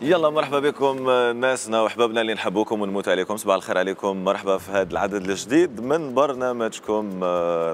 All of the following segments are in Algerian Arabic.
يلا مرحبا بكم ناسنا وحبابنا اللي نحبوكم ونموت عليكم. صباح الخير عليكم، مرحبا في هذا العدد الجديد من برنامجكم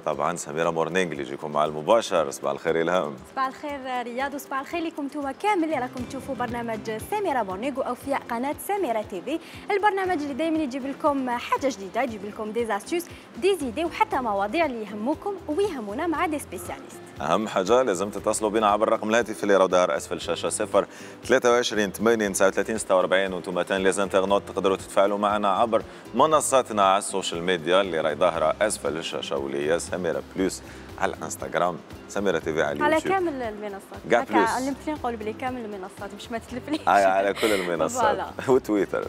طبعا سميرة مورنينغ اللي يجيكم مع المباشر. صباح الخير إلهام. صباح الخير رياض، وصباح الخير لكم انتم كامل اللي راكم تشوفوا برنامج سميرة مورنينغ واوفياء قناه سميرة تيفي، البرنامج اللي دائما يجيب لكم حاجه جديده، يجيب لكم دي زاستيوس دي زيدي وحتى مواضيع اللي يهموكم ويهمونا مع دي سبيسياليست. اهم حاجه لازم تتصلوا بنا عبر الرقم الهاتفي اللي راه ظاهر اسفل الشاشه 023 80 39 46 وانتم تاني لازم انترنت تقدروا تتفاعلوا معنا عبر منصاتنا على السوشيال ميديا اللي راهي ظاهره اسفل الشاشه واللي هي سميرة بلوس على الانستغرام، سميرة تيفي على اليوتيوب على كامل المنصات. كاع بلوس علمتني نقول بلي كامل المنصات مش ما تتلفليش. على كل المنصات وتويتر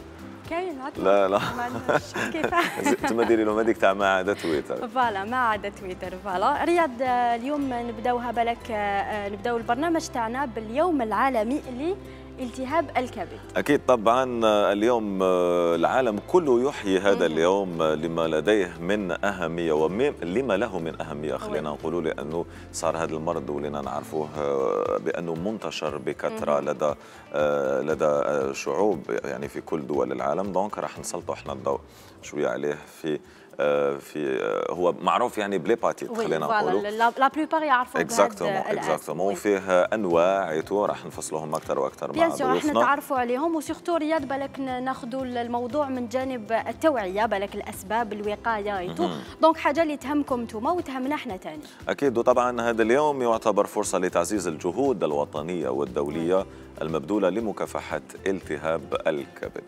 كاين لا ما عندناش كيفاش انتم ديري لهم هذيك تاع ما عدا تويتر. فوالا ما عدا تويتر. فوالا رياض، اليوم نبداوها بالك، نبداو البرنامج تاعنا باليوم العالمي لالتهاب الكبد. اكيد طبعا اليوم العالم كله يحيي هذا اليوم لما لديه من اهميه ولما له من اهميه، خلينا نقولوا، لانه صار هذا المرض ولينا نعرفوه بانه منتشر بكثره لدى شعوب يعني في كل دول العالم. دونك راح نسلطوا احنا الضوء شويه عليه هو معروف يعني بليباتيت، خلينا نقولوا لا بلوبار يعرفوا اكزاكتومون وفيه انواع ايتو راح نفصلوهم اكثر واكثر مع ضيوفنا. راح نتعرفوا عليهم، وسيرتو رياض بالك ناخذوا الموضوع من جانب التوعيه، بالك الاسباب الوقايه ايتو، دونك حاجه اللي تهمكم انتم وتهمنا احنا ثاني. اكيد، وطبعا هذا اليوم يعتبر فرصه لتعزيز الجهود الوطنيه والدوليه المبذوله لمكافحه التهاب الكبد.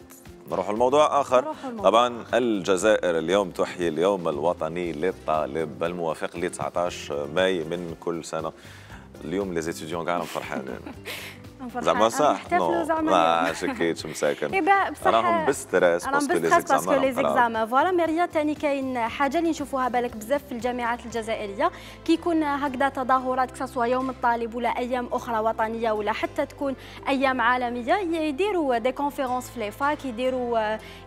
نروح الموضوع آخر. طبعا الجزائر اليوم تحيي اليوم الوطني للطالب الموافق ل 19 ماي من كل سنة. اليوم لي زيتيديون كاع فرحانين زعما صح؟ ما شكيتش مساكن راهم بستريس باسكو لي زيكزامان. فوالا ميريا ثاني كاين حاجه اللي نشوفوها بالك بزاف في الجامعات الجزائريه، كي يكون هكذا تظاهرات كسوا يوم الطالب ولا ايام اخرى وطنيه ولا حتى تكون ايام عالميه، يديروا دي كونفيرونس في لي فاك،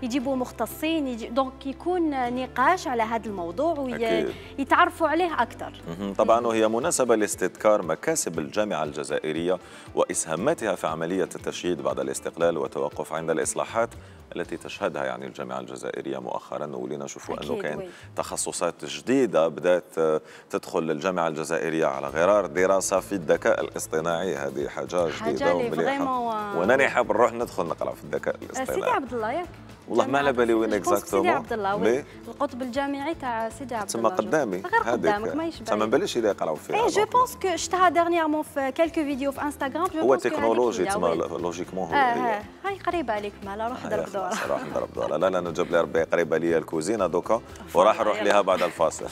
يجيبوا مختصين، دونك يكون نقاش على هذا الموضوع ويتعرفوا عليه اكثر. طبعا وهي مناسبه لاستذكار مكاسب الجامعه الجزائريه واسهاماتها في عملية التشييد بعد الاستقلال والتوقف عند الإصلاحات التي تشهدها يعني الجامعة الجزائرية مؤخرا. ولينا نشوفوا أنه كاين تخصصات جديدة بدأت تدخل الجامعة الجزائرية على غرار دراسة في الذكاء الاصطناعي. هذه حاجة جديدة ومليحة، وأنا حاب نروح ندخل نقرأ في الذكاء الاصطناعي. سيدي عبد الله ياك والله ما على بالي وين اكزاكتومون. سيدي عبد الله القطب الجامعي تاع سيدي عبد الله تما قدامي غير قدامك ما يشبه. ما باليش اللي يقراو فيها. جو بونس كو شفتها ديرنييرمون في كالكو فيديو في انستغرام. هو تكنولوجي تما لوجيكمون هو هاي قريبه عليك مالا، روح ضرب دوره. روح نضرب دوره. لا لا نجيب لي ربي قريبه ليا الكوزينه دوكا وراح نروح لها بعد الفاصل.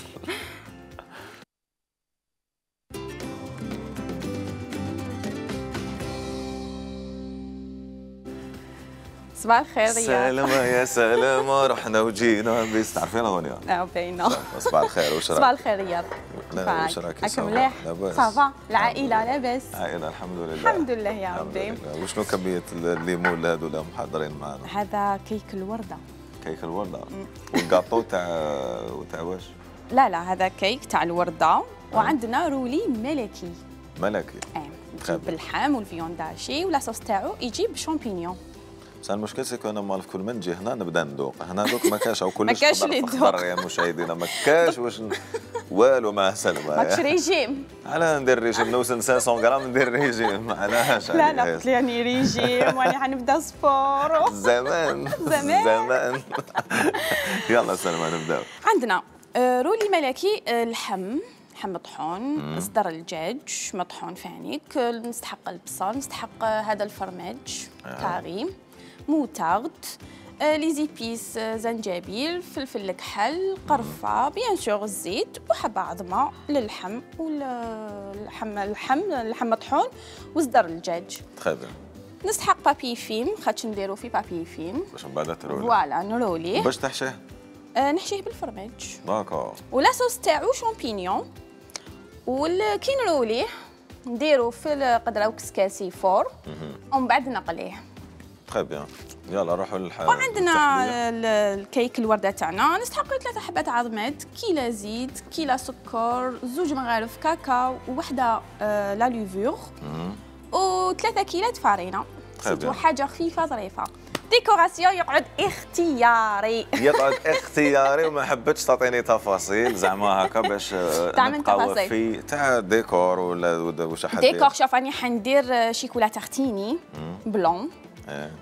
صباح الخير رياض. سلامة يا سلامة، رحنا وجينا بس تعرفين اغنية؟ باينة. صباح الخير، واش راك؟ صباح الخير رياض. واش راك؟ راك مليح؟ صافا، العائلة لاباس؟ العائلة الحمد لله. الحمد لله يا ربي. وشنو كمية الليمون هذو اللي محضرين معنا؟ هذا كيك الوردة. كيك الوردة؟ والكاطو تاع واش؟ لا هذا كيك تاع الوردة، وعندنا رولي ملكي. ملكي؟ يجيب باللحم والفيونداشي ولا صوص تاعو يجيب شامبينيون. بس المشكل سيكون انا مالف كل ما نجي هنا نبدا ندوق، هنا دوك ما كاش او كلش ما كاش اللي يدوق يا مشاهدينا، ما كاش واش والو مع السلامه. ماكش ريجيم؟ علاه ندير ريجيم؟ نوزن 500 غرام ندير ريجيم؟ علاش؟ لا قلت لي راني ريجيم واني حنبدا سبور. زمان يلا سلمى نبداو. عندنا رولي ملكي، لحم مطحون، صدر الدجاج مطحون فانيك، نستحق البصل، نستحق هذا الفرماج كاري، موتارد، لي زيبيس، زنجبيل، فلفل الكحل، قرفه، بيان سور الزيت، وحبه عظمه للحم اللحم مطحون وصدر الدجاج. تري بيان. نستحق بابي فيم، خاطش نديرو في بابي فيم باش من بعد ترولي. فوالا نروليه. باش تحشيه؟ نحشيه بالفرماج. داكور. ولا صوص تاعو شامبينيون، وكي نروليه نديرو في القدره وكسكاسي فور ومن بعد نقليه. تري بيان. يلا نروحوا للحال. وعندنا الكيك الورده تاعنا، نستحقوا 3 حبات عظمات، كيلو زيت، كيلو سكر، 2 مغارف كاكاو، وحده لا لوفور، و3 كيلات فارينه. سيتو حاجه خفيفه ظريفه. ديكوراسيون يقعد اختياري. يقعد اختياري وما حبيتش تعطيني تفاصيل زعما هكا باش نبقاو في تاع ديكور ولا واش حد ديكور. شوف راني حندير شيكولا تارتيني بلون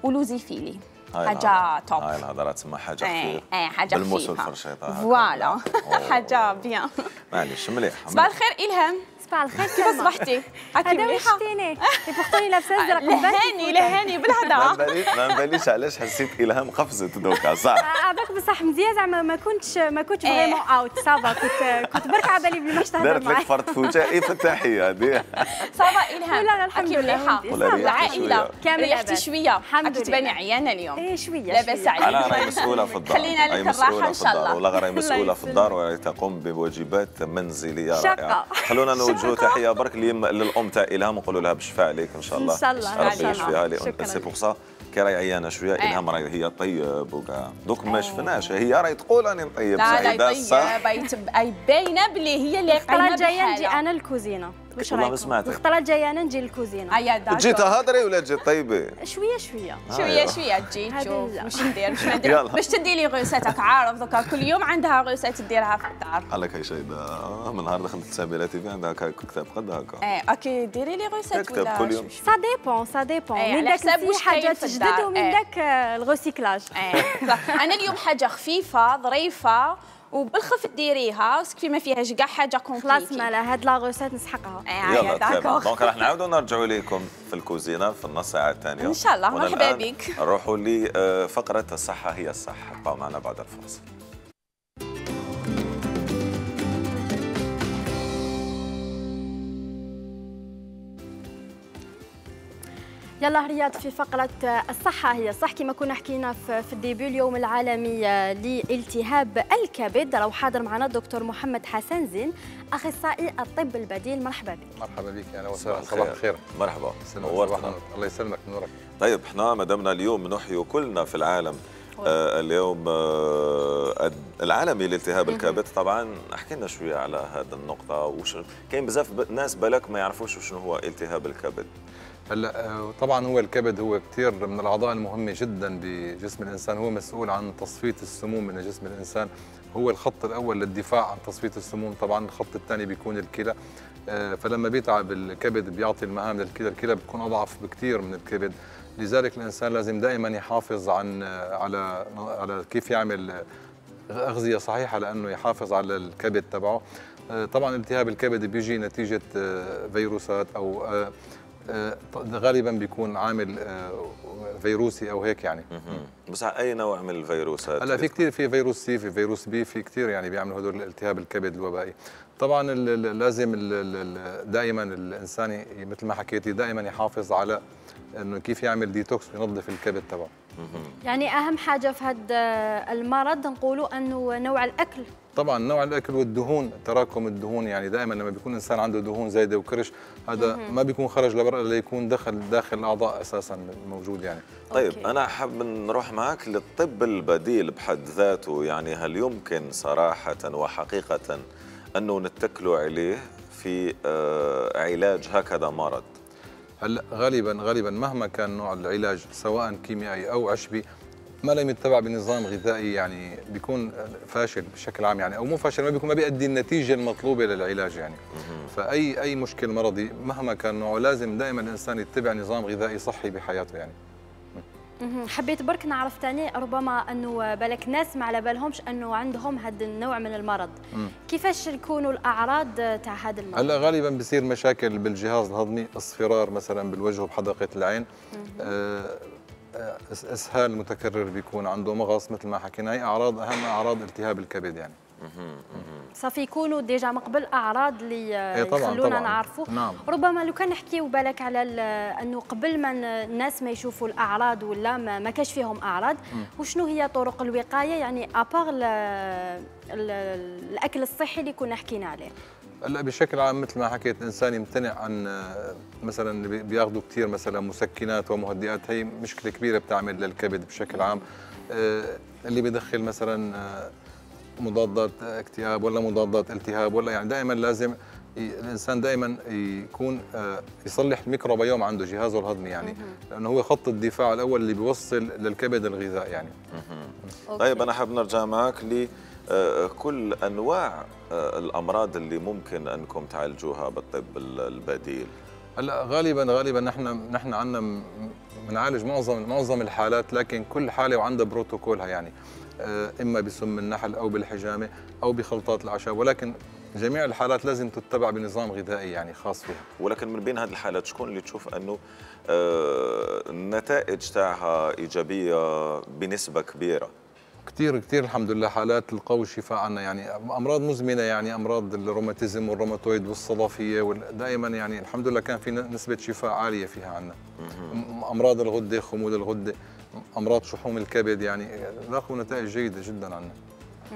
ولوزي فيلي، حاجه توب. هاي الهضره تسمى حاجه خفيفه. حاجه بالموس والفرشيطه فوالا. حاجه بيان. معليش مليح. صباح الخير إلهام. صباح الخير. كيف صبحتي؟ هذا واش شتيني بوغتوني لابسه ازرق. لهاني بالهضره. ما نباليش علاش حسيت إلهام قفزت دوكا صح. هذاك بصح مزيان زعما ما كنتش فريمون اوت صافا. كنت برك على بالي بلي ماش تهضر معايا. دارت لك فرد فوتائي في التحيه هذه. صافا إلهام. لا الحمد لله. العائله كامل ريحتي شويه. الحمد لله. تباني عيانه اليوم. ايه شويه. لاباس عليك. انا راهي مسؤوله في الدار. خلينا لك الراحه ان شاء الله. والله راهي مسؤوله في الدار وتقوم بواجبات منزليه رائعه. خلونا نوجهوا تحيه برك للام تاع إلهام ونقولوا لها بالشفاء عليك ان شاء الله. ان شاء الله ربي يشفيها لي. سي بوغ سا كي راهي عيانه شويه. إلهام راهي هي طيب وكاع دوك ما شفناش. هي راهي تقول راني نطيب. لا صح باينه بلي هي اللي الخطره الجايه نجي انا الكوزينه. واش رايك؟ والله سمعتك. الخطره الجايه انا نجي للكوزينه. تجي تهضري ولا تجي طيبي؟ شويه تجي تشوف واش ندير باش تدي لي غوساتك. عارف دوكا كل يوم عندها غوسات تديرها في الدار. قالك هي شايده من نهار دخلت سابيلا تي في عندها كتاب قد هكا. اوكي ديري لي غوسات ولا كل يوم. سا ديبون من داك حاجات جدد ومن داك الغوسيكلاج. انا اليوم حاجه خفيفه ظريفه وبالخف ديريها سكفي ما فيهاش كاع حاجه كومبليكي. خلاص مالا هاد لا غوسيت نسحقها. يلا داكور. دونك راح نعاودوا نرجعوا لكم في الكوزينه في النص ساعه الثانيه ان شاء الله. مرحبا بك. نروحوا لفقره الصحه هي الصحه. بقوا معنا بعد الفاصل. يلا رياض في فقرة الصحة هي صح. كما كنا حكينا في الديبي اليوم العالمي لالتهاب الكبد. راهو حاضر معنا الدكتور محمد حسن زين أخصائي الطب البديل. مرحبا بك. مرحبا بك. أهلا وسهلا. صباح الخير. مرحبا. الله يسلمك نورك. طيب احنا مدامنا اليوم نحيي كلنا في العالم اليوم العالمي لالتهاب الكبد. طبعا حكي لنا شويه على هذه النقطه. وش كاين بزاف ناس بالك ما يعرفوش شنو هو التهاب الكبد. هلا طبعا هو الكبد هو كثير من الاعضاء المهمه جدا بجسم الانسان. هو مسؤول عن تصفيه السموم من جسم الانسان. هو الخط الاول للدفاع عن تصفيه السموم. طبعا الخط الثاني بيكون الكلى. فلما بيتعب الكبد بيعطي المهام للكلى. الكلى بتكون اضعف بكثير من الكبد. لذلك الانسان لازم دائما يحافظ على كيف يعمل اغذيه صحيحه لانه يحافظ على الكبد تبعه. طبعا التهاب الكبد بيجي نتيجه فيروسات او غالبا بيكون عامل فيروسي او هيك يعني. بس اي نوع من الفيروسات؟ هلا في كثير. في فيروس سي، في فيروس بي، في كثير يعني بيعملوا هدول التهاب الكبد الوبائي. طبعا لازم دائما الانسان مثل ما حكيتي دائما يحافظ على انه كيف يعمل ديتوكس وينظف الكبد تبعه. يعني اهم حاجه في هذا المرض نقولوا انه نوع الاكل. طبعا نوع الاكل والدهون، تراكم الدهون. يعني دائما لما بيكون الانسان عنده دهون زايده وكرش هذا ما بيكون خرج لبرا الا يكون داخل الاعضاء اساسا موجود يعني. طيب انا حاب نروح معك للطب البديل بحد ذاته. يعني هل يمكن صراحه وحقيقه انه نتكلوا عليه في علاج هكذا مرض؟ هلا غالبا مهما كان نوع العلاج سواء كيميائي او عشبي ما لم يتبع بنظام غذائي يعني بيكون فاشل بشكل عام يعني، او مو فاشل، ما بيؤدي النتيجه المطلوبه للعلاج يعني. فاي مشكل مرضي مهما كان نوعه لازم دائما الانسان يتبع نظام غذائي صحي بحياته يعني. حبيت برك نعرف ثاني ربما انه بالك ناس ما على بالهمش انه عندهم هذا النوع من المرض. كيفاش يكونوا الاعراض تاع هذا المرض؟ هلا غالبا بصير مشاكل بالجهاز الهضمي، اصفرار مثلا بالوجه وبحدقه العين، اسهال متكرر بيكون عنده، مغص مثل ما حكينا. هي اعراض اهم اعراض التهاب الكبد يعني. صافي يكونوا ديجا من قبل اعراض اللي يخلونا نعرفوا. نعم. ربما لو كان نحكيو بالك على انه قبل ما الناس ما يشوفوا الاعراض ولا ما كاش فيهم اعراض، وشنو هي طرق الوقايه يعني ابار الاكل الصحي اللي كنا حكينا عليه؟ هلا بشكل عام مثل ما حكيت الانسان يمتنع عن مثلا بياخذوا كثير مثلا مسكنات ومهدئات. هي مشكله كبيره بتعمل للكبد بشكل عام. اللي بيدخل مثلا مضادات اكتئاب ولا مضادات التهاب ولا يعني دائما لازم الانسان دائما يكون يصلح الميكروبيوم عنده، جهازه الهضمي يعني، لانه هو خط الدفاع الاول اللي بيوصل للكبد الغذاء يعني. طيب انا حاب نرجع معك لكل انواع الامراض اللي ممكن انكم تعالجوها بالطب البديل. هلا غالبا نحن عندنا بنعالج معظم الحالات، لكن كل حاله وعندها بروتوكولها يعني، اما بسم النحل او بالحجامه او بخلطات الاعشاب، ولكن جميع الحالات لازم تتبع بنظام غذائي يعني خاص فيها. ولكن من بين هذه الحالات شكون اللي تشوف انه النتائج تاعها ايجابيه بنسبه كبيره؟ كثير الحمد لله حالات لقوا الشفاء عنا يعني، امراض مزمنه يعني، امراض الروماتيزم والروماتويد والصدفيه دائما يعني الحمد لله كان في نسبه شفاء عاليه فيها عنا. امراض الغده، خمول الغده، امراض شحوم الكبد يعني لاقوا نتائج جيده جدا عنا.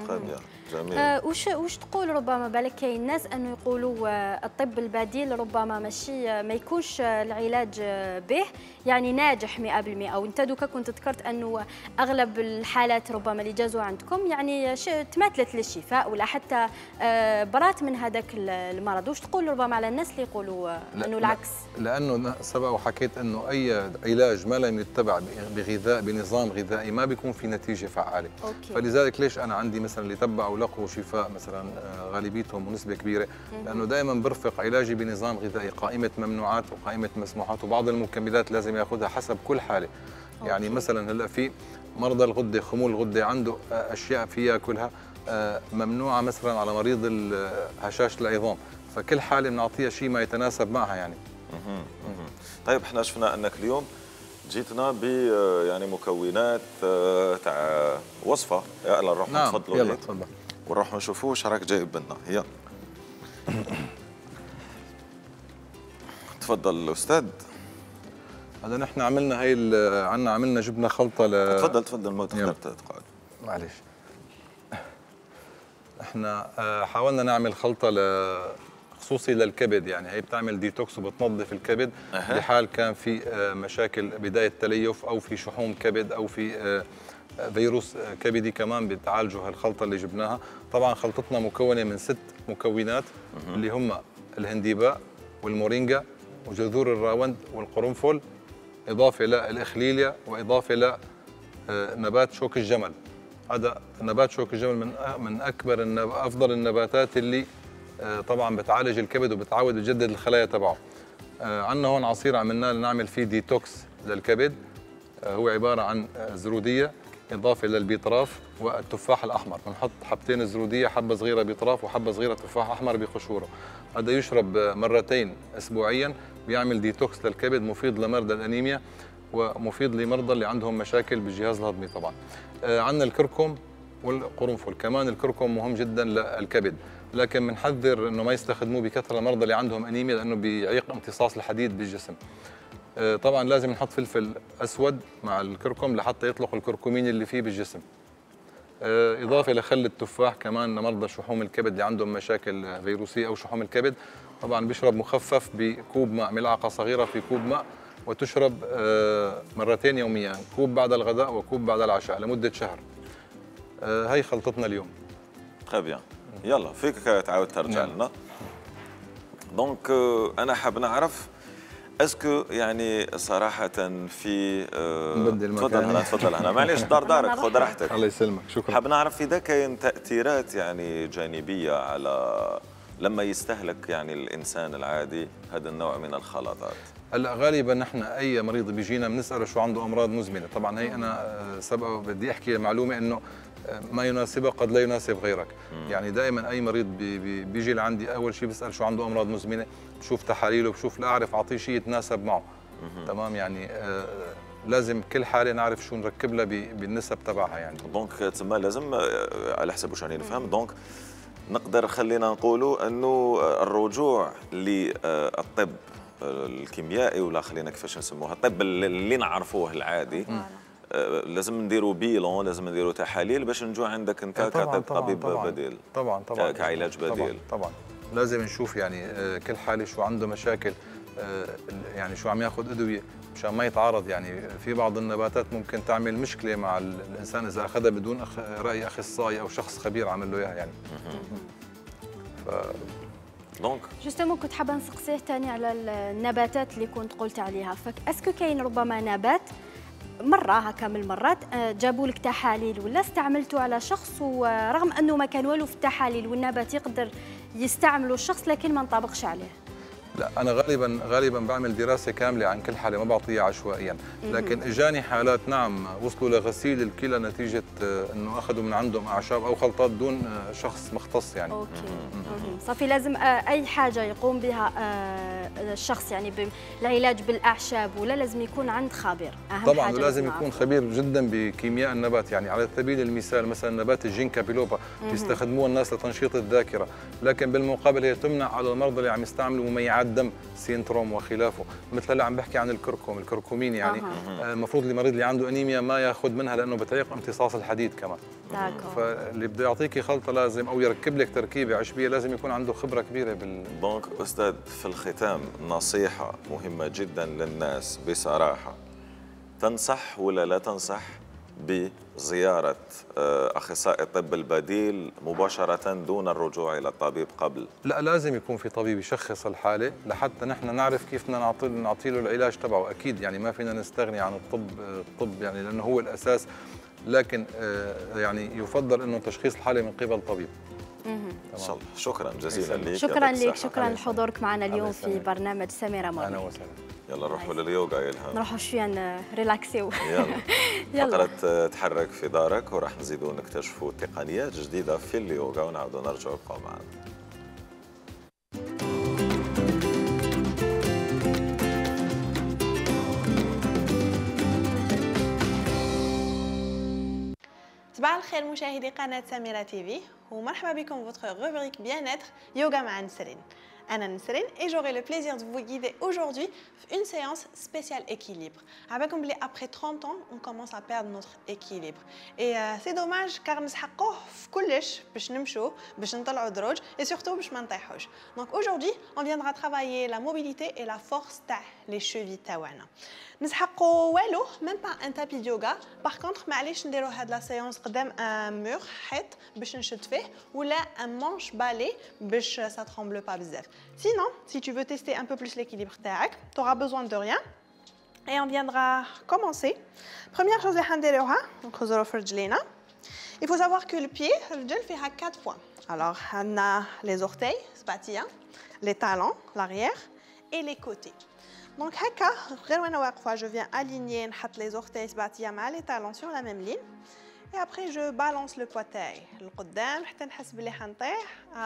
طيب جميل. وش تقول؟ ربما بالك كاين ناس انه يقولوا الطب البديل ربما ماشي ما يكونش العلاج به يعني ناجح 100%، وانت دوكا كنت ذكرت انه اغلب الحالات ربما اللي جازوا عندكم يعني تماثلت للشفاء ولا حتى برات من هذاك المرض. وش تقول ربما على الناس اللي يقولوا انه العكس؟ لانه سبق وحكيت انه اي علاج ما لم يتبع بغذاء بنظام غذائي ما بيكون في نتيجه فعاله. فلذلك ليش انا عندي مثلا اللي تبعوا لقوا شفاء مثلا غالبيتهم ونسبه كبيره، لانه دائما برفق علاجي بنظام غذائي، قائمه ممنوعات وقائمه مسموحات، وبعض المكملات لازم ياخذها حسب كل حاله. يعني مثلا هلا في مرضى الغده، خمول الغده عنده اشياء فيها كلها ممنوعه مثلا على مريض هشاشه العظام، فكل حاله بنعطيها شيء ما يتناسب معها يعني. طيب احنا شفنا انك اليوم جيتنا ب يعني مكونات تاع وصفه، يلا نروح نتفضلوا. يلا تفضل ونروح نشوفوا واش راك جايب لنا. يلا تفضل الاستاذ. هذا نحن عملنا هي عملنا جبنا خلطه تفضل ما تقعد. معلش. احنا حاولنا نعمل خلطه خصوصي للكبد يعني، هي بتعمل ديتوكس وبتنظف الكبد بحال كان في مشاكل بدايه تليف او في شحوم كبد او في فيروس كبدي كمان بتعالجوا هالخلطه اللي جبناها. طبعا خلطتنا مكونه من 6 مكونات اللي هم الهنديباء والمورينجا وجذور الراوند والقرنفل، اضافه للاخليليا واضافه لنبات شوك الجمل. هذا نبات شوك الجمل من افضل النباتات اللي طبعا بتعالج الكبد وبتعود تجدد الخلايا تبعه. عندنا هون عصير عملناه لنعمل فيه ديتوكس للكبد، هو عباره عن زروديه اضافه للبيطراف والتفاح الاحمر. بنحط حبتين زروديه، حبه صغيره بيطراف وحبه صغيره تفاح احمر بقشوره. هذا يشرب مرتين اسبوعيا، بيعمل ديتوكس للكبد، مفيد لمرضى الانيميا ومفيد لمرضى اللي عندهم مشاكل بالجهاز الهضمي. طبعا عندنا الكركم والقرنفل، كمان الكركم مهم جدا للكبد، لكن بنحذر انه ما يستخدموه بكثره المرضى اللي عندهم انيميا لانه بيعيق امتصاص الحديد بالجسم. طبعا لازم نحط فلفل اسود مع الكركم لحتى يطلق الكركمين اللي فيه بالجسم. اضافه لخل التفاح كمان لمرضى شحوم الكبد اللي عندهم مشاكل فيروسيه او شحوم الكبد. طبعا بيشرب مخفف بكوب ماء، ملعقه صغيره في كوب ماء، وتشرب مرتين يوميا، كوب بعد الغداء وكوب بعد العشاء لمده شهر. هي خلطتنا اليوم. طيب يلا فيك تعاود ترجع لنا. دونك انا حاب نعرف اسكو يعني صراحه في تفضل هنا معليش دارك خذ راحتك. الله يسلمك، شكرا. حاب نعرف اذا كاين تاثيرات يعني جانبيه على لما يستهلك يعني الانسان العادي هذا النوع من الخلطات. هلا غالبا نحن اي مريض بيجينا بنساله شو عنده امراض مزمنه. طبعا هي انا سبق بدي احكي معلومه انه ما يناسبك قد لا يناسب غيرك. يعني دائما اي مريض بيجي لعندي اول شيء بسال شو عنده امراض مزمنه، بشوف تحاليله، بشوف لاعرف اعطيه شيء يتناسب معه. تمام يعني لازم كل حاله نعرف شو نركب لها بالنسب تبعها يعني. دونك تسمى لازم على حسب واش راني نفهم. دونك نقدر خلينا نقولوا انه الرجوع للطب الكيميائي ولا خلينا كيفاش نسموها الطب اللي نعرفوه العادي، لازم نديروا بيلون، لازم نديروا تحاليل باش نجوا عندك انت كطبيب بديل. طبعا كعلاج بديل. طبعا لازم نشوف يعني كل حاله شو عنده مشاكل، يعني شو عم ياخذ ادويه مشان ما يتعارض. يعني في بعض النباتات ممكن تعمل مشكله مع الانسان اذا اخذها بدون راي اخصائي او شخص خبير عمل له اياها يعني. دونك جوستومون كنت حابه نسقسيه ثاني على النباتات اللي كنت قلت عليها، فاسكو كاين ربما نبات مره هكا من المرات جابوا لك تحاليل ولا استعملته على شخص، ورغم انه ما كان والو في التحاليل والنبات يقدر يستعمله الشخص لكن ما انطبقش عليه؟ لا انا غالبا بعمل دراسه كامله عن كل حاله، ما بعطيها عشوائيا، لكن اجاني حالات نعم وصلوا لغسيل الكلى نتيجه انه اخذوا من عندهم اعشاب او خلطات دون شخص مختص يعني. اوكي صافي لازم اي حاجه يقوم بها الشخص يعني بالعلاج بالاعشاب ولا لازم يكون عند خبير؟ اهم طبعا حاجه لازم يكون خبير جدا بكيمياء النبات، يعني على سبيل المثال مثلا نبات الجينكا بيلوبا بيستخدموه الناس لتنشيط الذاكره، لكن بالمقابل هي تمنع على المرضى اللي عم يستعملوا مميعات دم سينتروم وخلافه، مثل هلا عم بحكي عن الكركمين يعني المفروض المريض اللي عنده انيميا ما ياخذ منها لانه بتعيق امتصاص الحديد كمان. فاللي بده يعطيكي خلطه لازم او يركب لك تركيبه عشبيه لازم يكون عنده خبره كبيره دونك استاذ في الختام نصيحه مهمه جدا للناس بصراحه، تنصح ولا لا تنصح بزياره اخصائي الطب البديل مباشره دون الرجوع الى الطبيب قبل؟ لا لازم يكون في طبيب يشخص الحاله لحتى نحن نعرف كيف بدنا نعطي له العلاج تبعه، اكيد يعني ما فينا نستغني عن الطب يعني لانه هو الاساس، لكن يعني يفضل انه تشخيص الحاله من قبل طبيب. ان شاء الله. شكرا جزيلا لك. شكرا لك، شكرا لحضورك معنا اليوم في برنامج سميرة مورنينغ. اهلا وسهلا. يلا نروحوا لليوغا يا إلهام. نروحوا شويه نريلاكسيو. يلا فقرة تحرك في دارك وراح نزيدوا نكتشفوا تقنيات جديدة في اليوغا ونعودوا نرجعوا بقوا معنا. صباح الخير مشاهدي قناة سميرة تيفي ومرحبا بكم في votre rubrique bien-être yoga مع نسرين. Anna Nesrine et j'aurai le plaisir de vous guider aujourd'hui une séance spéciale équilibre. Après 30 ans, on commence à perdre notre équilibre. Et c'est dommage car nous avons et surtout donc aujourd'hui, on viendra travailler la mobilité et la force les chevilles tawana. Nous avons même pas un tapis de yoga. Par contre, nous allons la séance قدام un mur حيط باش نشد فيه ولا un manche balai باش ça tremble pas بزاف. Sinon, si tu veux tester un peu plus l'équilibre تاعك, tu auras besoin de rien. Et on viendra commencer. Première chose il faut savoir que le pied, le fait à 4 points. Alors, on a les orteils, les talons, l'arrière et les côtés. Donc, je viens aligner les orteils les talons sur la même ligne. Et après, je balance le poitrail.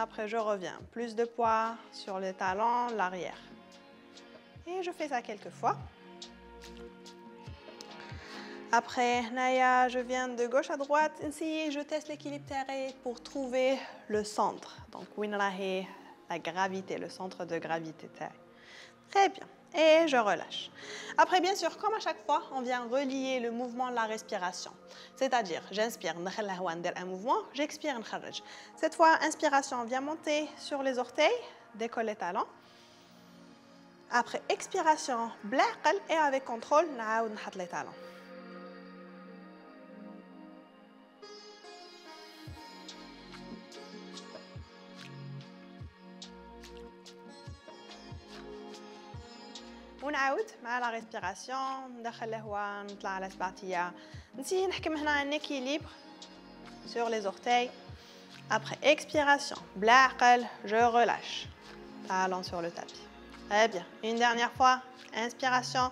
Après, je reviens. Plus de poids sur les talons, l'arrière. Et je fais ça quelques fois. Après, Naya, je viens de gauche à droite. Je teste l'équilibre terrestre pour trouver le centre. Donc, la gravité, le centre de gravité. Très bien. Et je relâche. Après, bien sûr, comme à chaque fois, on vient relier le mouvement de la respiration. C'est-à-dire, j'inspire, un mouvement, j'expire, cette fois, inspiration, on vient monter sur les orteils, décolle les talons. Après, expiration, et avec contrôle, on les talons. ونعاود مع لا ريسبيراسيون ندخل الهواء نطلع على سبعتيه نسي نحكم هنا ان équilibre sur les orteils. Après expiration بلا عقل je relâche talon sur le tapis. Très bien, une dernière fois, inspiration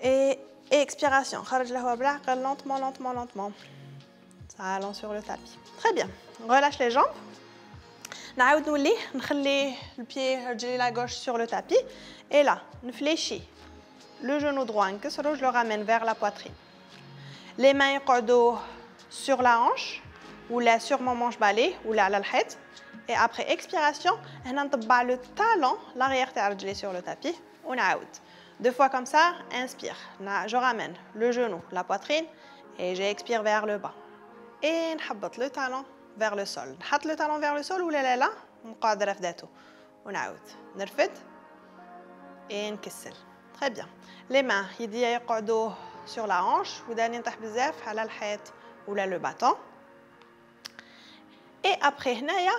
et expiration خرج الهواء بلا عقل lentement lentement lentement talon sur le tapis. Très bien, relâche les jambes. نعاود نولي نخلي البيي رجلي la gauche sur le tapis et là نفليشي le genou droit نكسرو je le ramène vers la poitrine. Les mains يقعدوا sur la hanche ou là sur mon manche balai ou là على الحيط. Et après expiration هنا نطبع le talon l'arrière تاع رجلي sur le tapis ونعاود 2 fois comme ça. Inspire, je ramène le genou la poitrine et j'expire vers le bas et نحبط le talon vers le sol. نحط le talon vers le sol ولا لا نقعد رفداته ونعاود نرفد et نكسل. Très bien. Les mains يديا يقعدوا sur la hanche وداني نطيح بزاف على الحيط ولا le bâton. Et après هنايا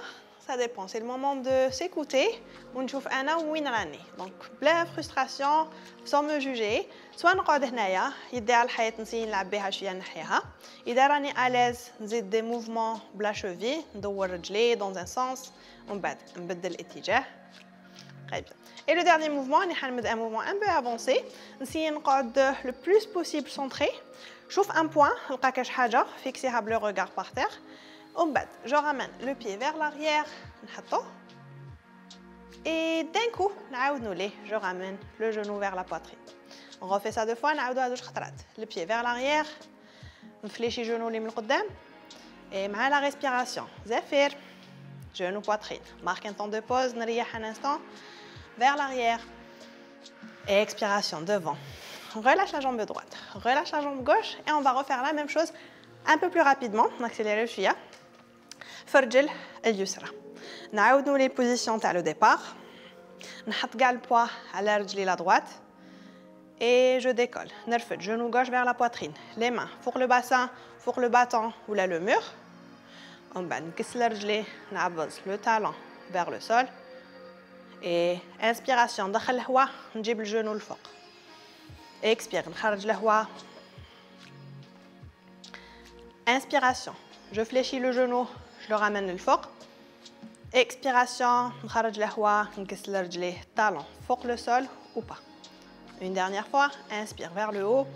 ça dépend. C'est le moment de s'écouter ونشوف أنا وين راني. Donc بلا frustration, sans me juger. سواء نقعد هنايا يدي على الحياة نسي نلعب بها شوية نحيها. إذا راني à l'aise نزيد des mouvements بلا cheville ندور رجلي dans un sens ومن بعد نبدل الاتجاه. Très bien. Et le dernier mouvement, un mouvement un peu avancé. نسي نقعد le plus possible centré. شوف un point, نلقى شي حاجة fixéها le regard par terre. ومن بعد je ramène le pied vers l'arrière نحطه. Et d'un coup نعاود نولي je ramène le genou vers la poitrine. On refait ça 2 fois, نعاودوها 2 خطرات. Le pied vers l'arrière. نفليشي genou اللي من القدام. Et مع la respiration. زفير. Genou poitrine. Marque un temps de pause, نريح un instant. Vers l'arrière. Et expiration devant. Relâche la jambe droite. Relâche la jambe gauche. Et on va refaire la même chose un peu plus rapidement. On accélère شوية. فرجل اليسرى. نعاودو les positions تاع le départ. نحط كاع البوا على رجلي la droite. Et je décolle. نرفد genou gauche vers la poitrine. Les mains pour le bassin, pour le battant ou là le mur. ومن بعد نكسل رجلي نعبز le talon vers le sol. Et inspiration ندخل الهواء نجيب الجنو لفوق. Expire نخرج الهواء. Inspiration, je fléchis le genou, je le ramène للفوق. Expiration نخرج الهواء نكسل رجلي talon فوق le sol ou pas. Une dernière fois, inspire vers le haut.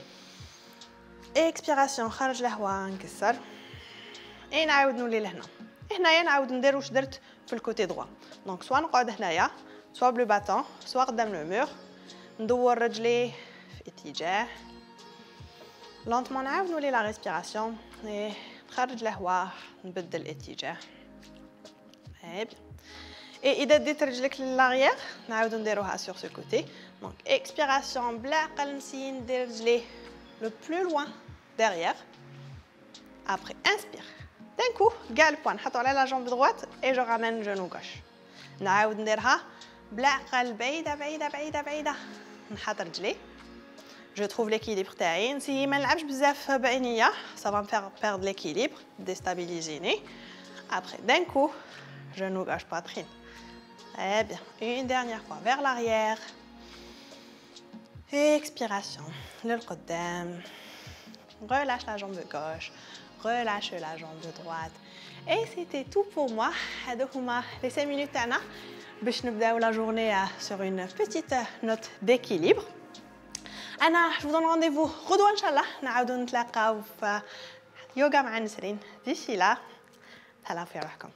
Expiration نخرج الهواء نكسر. Et نعاود نولي لهنا. هنايا نعاود ندير واش درت في الكوتي droit. Donc soit نقعد هنايا soit bleu battant, soit قدام le mur. ندور رجلي في اتجاه. Lentement نعاود نولي la respiration. Et نخرج الهواء نبدل الاتجاه. Très bien. Et إذا ديت رجلك للاريير نعاودو نديروها sur ce côté. Donc expiration بلا عقل نسي ندير رجلي le plus loin derrière. Après inspire. D'un coup, كاع البوان نحطو على la jambe droite et je ramène genou gauche. نعاود نديرها بلا عقل بعيدة بعيدة بعيدة بعيدة. نحط رجلي. Je trouve l'équilibre تاعي. نسي ما نلعبش بزاف بعينيا. Ça va me faire perdre l'équilibre, déstabiliser. Après, d'un coup, genou gauche poitrine. Très bien. Une dernière fois vers l'arrière. Expiration. للقدام. Relâche la jambe gauche. Relâche la jambe droite. Et c'était tout pour moi. هادو هما les 5 minutes تاعنا باش نبداو la journée sur une petite note d'équilibre. je vous donne rendez-vous غدوة إن شاء الله نعاودو نتلاقاو في يوغا مع نسرين. D'ici là, تهلاو في روحكم.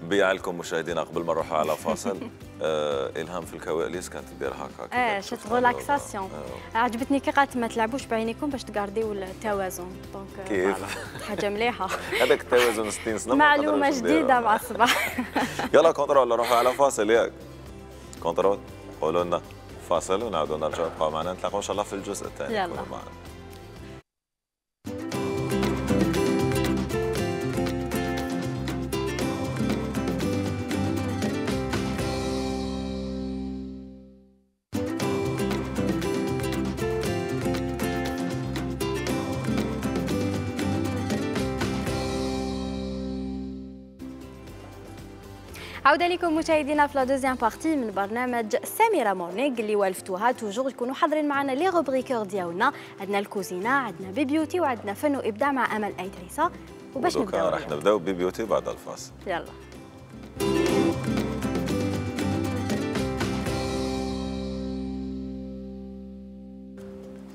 بيعلكم مشاهدينا قبل ما نروحوا على فاصل الهام في الكواليس كانت تدير هكا شفت ريلاكساسيون عجبتني كي قالت ما تلعبوش بعينيكم باش تغارديو التوازن دونك كيف حاجه مليحه هذاك التوازن 60 سنه معلومه جديده مع الصباح يلا كونترول نروحوا على فاصل ياك كونترول قولوا لنا فاصل ونعاودوا نرجعوا نبقاو معنا نتلاقاو ان شاء الله في الجزء الثاني يلا عودة لكم مشاهدينا في لا دوزيام بارتي من برنامج سميرة مورنينغ اللي والفتوها توجور يكونوا حاضرين معنا لي روبريكور ديالنا. عندنا الكوزينه، عندنا بيبيوتي، وعندنا فن وابداع مع امل ايدريسه. وباش نبداو راح نبداو ببيبيوتي بعد الفاصل. يلا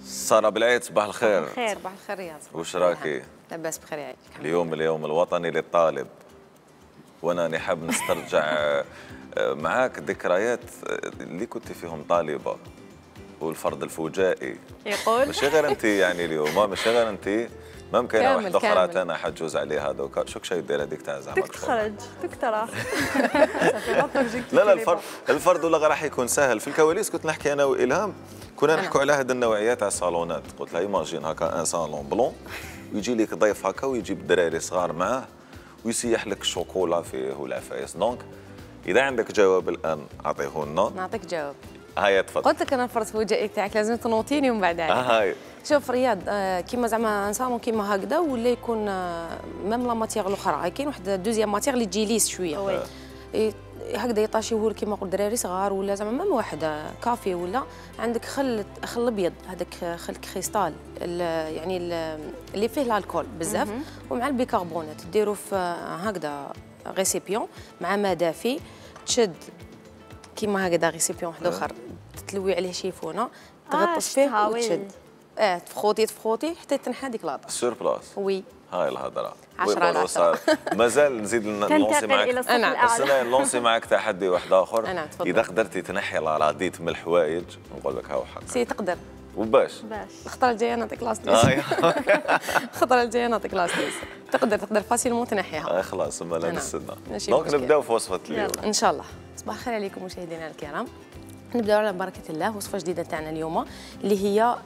سارة بالعيد صباح الخير. صباح الخير. صباح الخير يا صباح. وش راكي؟ لاباس بخير يعيشك. اليوم الوطني للطالب، وانا نحب نسترجع معاك ذكريات اللي كنت فيهم طالبه والفرض الفجائي. يقول ماشي غير انت يعني اليوم، ماشي غير انت، ممكن واحده اخرى انا حتجوز عليها دوكا. شوك شي دير هذيك تاع زعما تخرج دكتوره. لا الفرض ولا راح يكون سهل. في الكواليس كنت نحكي انا والهام، كنا نحكوا على هذه النوعيه تاع الصالونات. قلت لها ايماجين هكا ان صالون بلون ويجي لك ضيف هكا ويجيب دراري صغار معاه ويسيح لك الشوكولا فيه والعفايس. دونك اذا عندك جواب الان اعطيه لنا. نعطيك جواب. هاي تفضل. قلت لك انا فرت في وجهي تاعك لازم تنوطيني ومن بعد هاي شوف رياض كيما زعما نصامو كيما هكذا ولا يكون ميم لا ماتيغ الاخرى كاين واحد دوزيام ماتيغ اللي تجي ليس شويه هكذا يطاشيوه كيما نقول دراري صغار ولا زعما ميم واحد كافي ولا عندك خل ابيض هذاك خل كريستال يعني اللي فيه الكحول بزاف ومع البيكربونات ديروا في هكذا ريسيبيون مع ماء دافي تشد كيما هكذا ريسيبيون واحد اخر تلوي عليه شيفونه تغطس فيه وتشد تفخوتي حتى تنحى هذيك لاطه سور بلاس وي هاي الهضره 10 مازال نزيد نلونسي معك بس نلونسي معك تحدي واحد اخر تفضل. اذا قدرتي تنحي العراضيت من الحوايج نقول لك هاو حق سي تقدر وباش الخطره الجايه نعطيك لاص الخطره الجايه نعطيك لاص تقدر فاسيلمون تنحيها خلاص ما لا نستنى دونك نبداو في وصفه اليوم ان شاء الله. صباح الخير عليكم مشاهدينا الكرام. نبداو على بركه الله وصفه جديده تاعنا اليوم اللي هي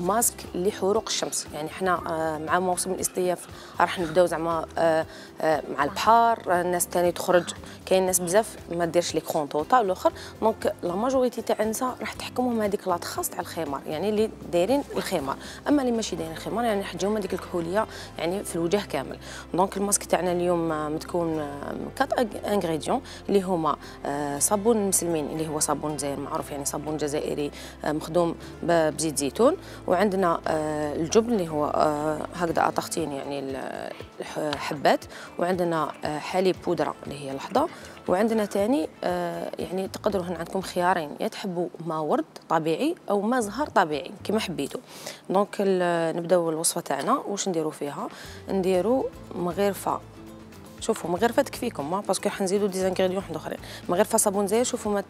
ماسك لحروق الشمس. يعني احنا مع موسم الاصيف راح نبداو زعما مع البحر الناس ثاني تخرج كاين ناس بزاف ما ديرش لي كونطوطا والاخر دونك لا ماجوريتي تاع النساء راح تحكمهم هذيك لاط خاص تاع الخمار يعني اللي دايرين الخمار اما اللي ماشي دايرين الخمار يعني حجيهم هذيك الكحوليه يعني في الوجه كامل. دونك الماسك تاعنا اليوم متكون من 4 انغريديون اللي هما صابون المسلمين اللي هو صابون معروف يعني صابون جزائري مخدوم بزيت زيتون وعندنا الجبن اللي هو هكذا طاختين يعني الحبات وعندنا حليب بودره اللي هي لحظه وعندنا ثاني يعني تقدروا هنا عندكم خيارين يا تحبوا ما ورد طبيعي او ما زهر طبيعي كما حبيتوا. دونك نبداو الوصفه تاعنا واش نديروا فيها نديروا مغرفه شوفوا مغرفه تكفيكم باسكو حنزيدوا دي زانغريديون واحد اخرين مغرفه صابون زاير شوفوا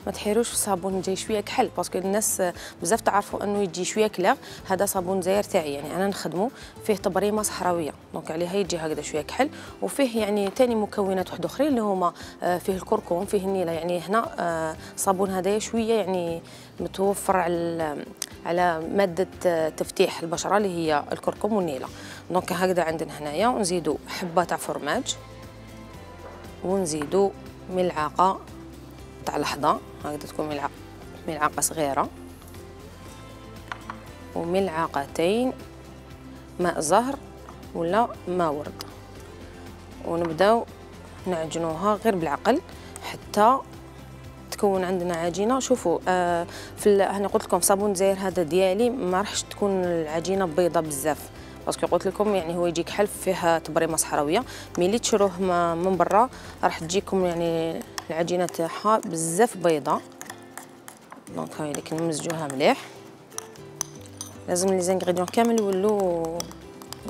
ما تحيروش الصابون جاي شويه كحل باسكو الناس بزاف تعرفوا انه يجي شويه كلاغ هذا صابون زاير تاعي يعني انا نخدمه فيه تبريمه صحراويه دونك عليها يجي هكذا شويه كحل وفيه يعني ثاني مكونات واحد اخرين اللي هما فيه الكركم فيه النيله يعني هنا صابون هذايا شويه يعني متوفر على ماده تفتيح البشره اللي هي الكركم والنيله. دونك هكذا عندنا هنايا ونزيدوا حبه تاع فرماج ونزيدوا ملعقه تاع لحظه هكذا تكون ملعقه صغيره وملعقتين ماء زهر ولا ماء ورد ونبداو نعجنوها غير بالعقل حتى تكون عندنا عجينه. شوفوا انا قلت لكم صابون زاير هذا ديالي ما راحش تكون العجينه بيضه بزاف باسكو قلت لكم يعني هو يجيك حلف فيها تبريمه صحراويه ملي تشروه من برا راح تجيكم يعني العجينه تاعها بزاف بيضه. دونك هاي اللي كنمزجوها مليح لازم لي زانغريديون كامل يولوا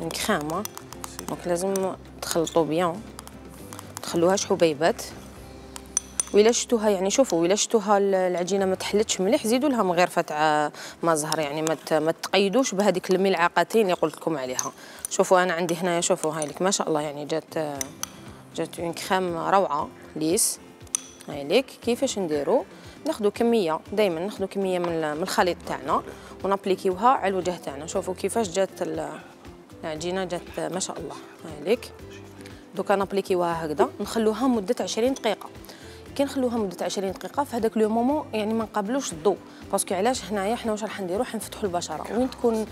من كريم دونك لازم تخلطوا بيان تخلوهاش حبيبات وإلا شفتوها يعني شوفوا وإلا شفتوها العجينه ما تحلتش مليح زيدوا لها مغرفه تاع ما زهر يعني ما تقيدوش بهذيك الملعقتين اللي قلت لكم عليها. شوفوا انا عندي هنايا شوفوا هاي لك ما شاء الله يعني جات اون كريم روعه ليس. هاي لك كيفاش نديروا ناخذوا كميه دائما ناخذوا كميه من الخليط تاعنا ونابليكيوها على الوجه تاعنا. شوفوا كيفاش جات العجينه جات ما شاء الله. هاي لك دوكا نابليكيوها هكذا نخلوها مده 20 دقيقه. كي نخلوها مده 20 دقيقه في هذاك لو مومون يعني ما نقابلوش الضوء باسكو علاش هنايا حنا واش راح نديروا حنفتحوا البشره وين تكون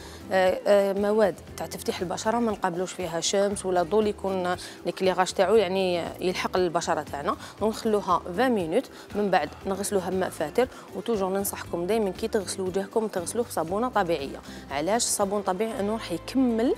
مواد تاع تفتيح البشره ما نقابلوش فيها شمس ولا ضوء يكون الكليغاج تاعو يعني يلحق البشره تاعنا ونخلوها 20 مينوت من بعد نغسلوها بماء فاتر. وتوجور ننصحكم دائما كي تغسلوا وجهكم تغسلوه بصابونه طبيعيه. علاش الصابون طبيعي انه راح يكمل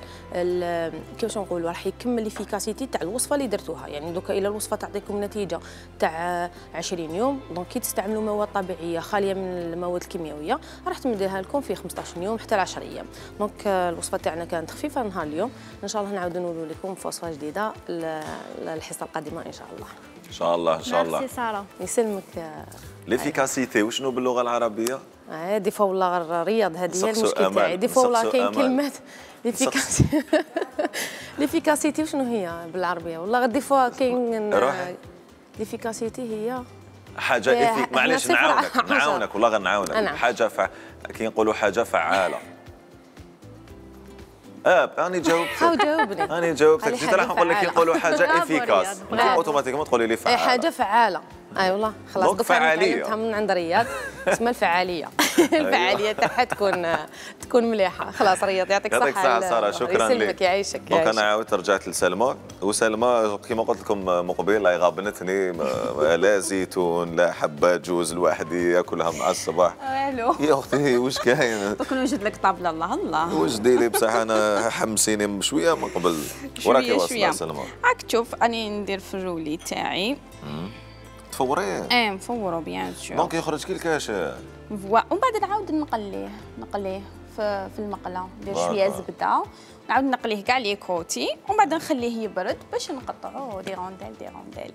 كيفاش نقولوا راح يكمل ليفيكاسيتي تاع الوصفه اللي درتوها. يعني دوكا الى الوصفه تعطيكم نتيجه تاع 20 يوم دونك كي تستعملوا مواد طبيعيه خاليه من المواد الكيميائيه راح تمديها لكم في 15 يوم حتى 10 ايام. دونك الوصفه تاعنا كانت خفيفه نهار اليوم ان شاء الله نعاودوا نقولوا لكم في وصفه جديده الحصه القادمه ان شاء الله. ان شاء الله ان شاء الله. ميرسي ساره. يسلمك. ليفيكاسيتي وشنو باللغه العربيه؟ دي فوا والله الرياض هذه هي المشكل تاعي دي فوا والله كاين كلمات ليفيكاسيتي وشنو هي بالعربيه والله دي فوا كاين ليفيكاسيتي هي حاجه معليش نعاونك والله غنعاونك حاجه كي نقولوا حاجه فعاله. انا جاوبتك انا جيت راح نقول لك كي نقولوا حاجه افيكاس اوتوماتيكمون تقولي لي فعاله حاجه فعاله اي والله خلاص دوك تعلمتها من عند رياض اسمها الفعاليه. الفعاليه تاعها تكون مليحه. خلاص رياض يعطيك الصحه. يعطيك الصحه ساره، شكرا لك. يسلمك يعيشك. دونك انا عاودت رجعت لسلمى، وسلمى كما قلت لكم مقبل لا غابنتني لا زيتون لا حبات جوز لوحدي ياكلها مع الصباح. الو يا اختي واش كاين؟ دوك نوجد لك طابله. الله الله وجدي لي بصح انا حمسيني شويه من قبل. وراكي واصله سلمى. راك تشوف راني ندير في الرولي تاعي. تفوريه؟ مفورو بيان سور. دونك يخرج كي الكاش. ومن بعد نعاود نقليه في المقله، ندير شويه زبده نعاود نقليه كاع لي كوتي ومن بعد نخليه يبرد باش نقطعوه دي رونديل.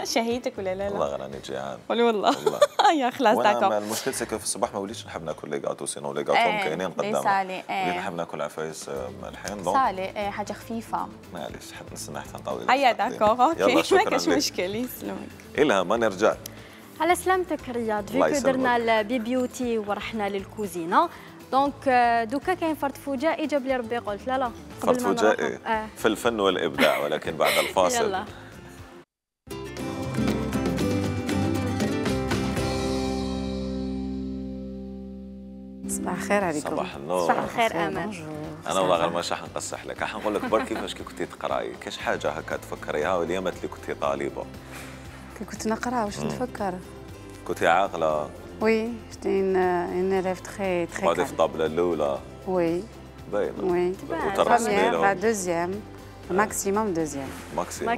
شهيتك ولا لا؟ والله راني جيعان. قولي والله. يا خلاص داكور. المشكل سكو في الصباح ما وليتش نحب ناكل لي غاتو، سينو لي غاتو كاينين قدامنا. وليت نحب ناكل عفايس مالحين. دونك صالي حاجه خفيفه. معليش حد نستنى حتى نطول. هيا داكور اوكي ما كاش مشكل. يسلمك. إلهام نرجع. على سلامتك رياض. فيكو درنا البي بيوتي ورحنا للكوزينه، دونك دوكا كاين فرد فجائي جاب لي ربي قلت لا فرد فجائي في الفن والابداع، ولكن بعد الفاصل. يلا. صباح الخير عليكم. صباح النور. صباح الخير امان. انا والله غير ماشي حنقصح لك، حنقول لك برك كيفاش كي كنتي تقراي، كاش حاجه هكا تفكريها واليامات اللي كنتي طالبه؟ كي كنت نقرا واش نتفكر؟ كنتي عاقله؟ وي جيتي ان ريف تخي تقعدي في الطابله الاولى؟ وي باينه. وي وترسمي لهم؟ بعد دوزيام ماكسيموم دوزيام. ماكسيموم.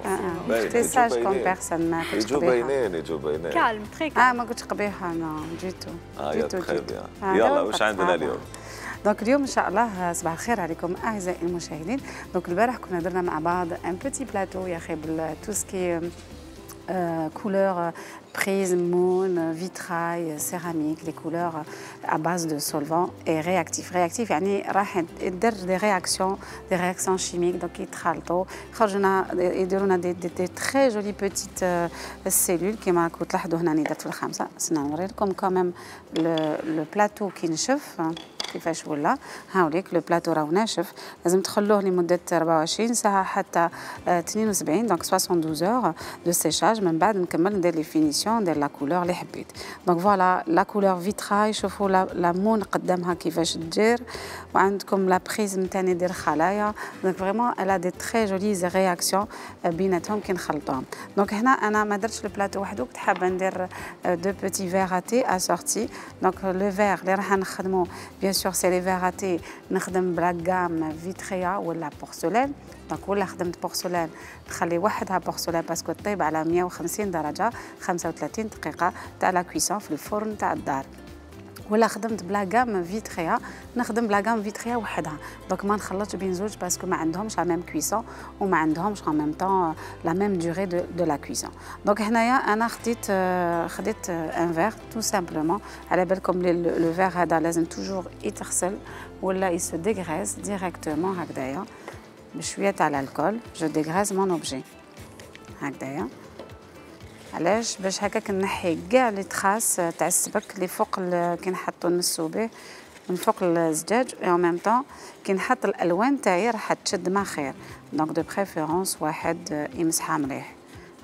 جيتي ساج كوم بيرسون، ما كنتش قبيحه. يجوا باينين. كالم تري كالم. ما كنتش قبيحه انا جيتو. جيتو يلا واش عندنا اليوم؟ دونك اليوم ان شاء الله صباح الخير عليكم اعزائي المشاهدين. دونك البارح كنا درنا مع بعض ان بوتي بلاتو يا اخي تو سكي couleurs prise, moule, vitrail, céramique, les couleurs à base de solvants et réactifs. Réactifs يعني راح يدير des réactions chimiques donc يتخلطوا يخرجونا يديروا لنا دي très jolies petites cellules كما كنت تلاحظوا هنا درت في الخامسه. نوري لكم كمان لو بلاتو كي نشف كيفاش ولا. هاوليك لو بلاتو راهو ناشف، لازم تخلوه لمده 24 ساعه حتى 72 دونك 72 اور دو سيشاج. من بعد نكمل ندير لي فينيسيون ندير لا كولور اللي حبيت. دونك فوالا لا كولور فيتراي، شوفوا لامون قدامها كيفاش تدير، وعندكم لا بريز نتاعي ندير خلايا. دونك فريمون الا دي تري جولي رياكسيون بيناتهم كي نخلطوهم. دونك هنا انا ما درتش البلاتو وحده، كنت حابه ندير دو بوتي فيغ اتي اسورتي. دونك لو فيغ اللي راح نخدمو بيان سور سي لي فيغ اتي نخدم بلا غام فيتريا ولا بورسلان. دونك ولا خدمت بورسلان نخلي وحدها بورسلان باسكو طيب على 150 درجه 35 دقيقه تاع لا كويسون في الفرن تاع الدار، ولا خدمت بلا غام فيتريا نخدم بلا غام فيتريا وحدها. دونك ما نخلطش بين زوج باسكو ما عندهمش لا ميم كويسون وما عندهمش en même temps la même durée de la cuisson. دونك هنايا انا خديت ان فيغ تو سامبلومون. على بالكم لو فيغ هذا لازم توجور يتغسل ولا يسو ديغريز ديريكتومون هكذايا بشويه تاع الكول. جو ديغريز مون اوبجي هكذايا. علاش؟ باش هكاك نحي كاع لي تراس تاع السبك اللي فوق كي نحطو نمسو به من فوق الزجاج، اي ميم طون كي نحط الالوان تاعي راح تشد ما خير. دونك دو بريفيرونس واحد يمسحها مليح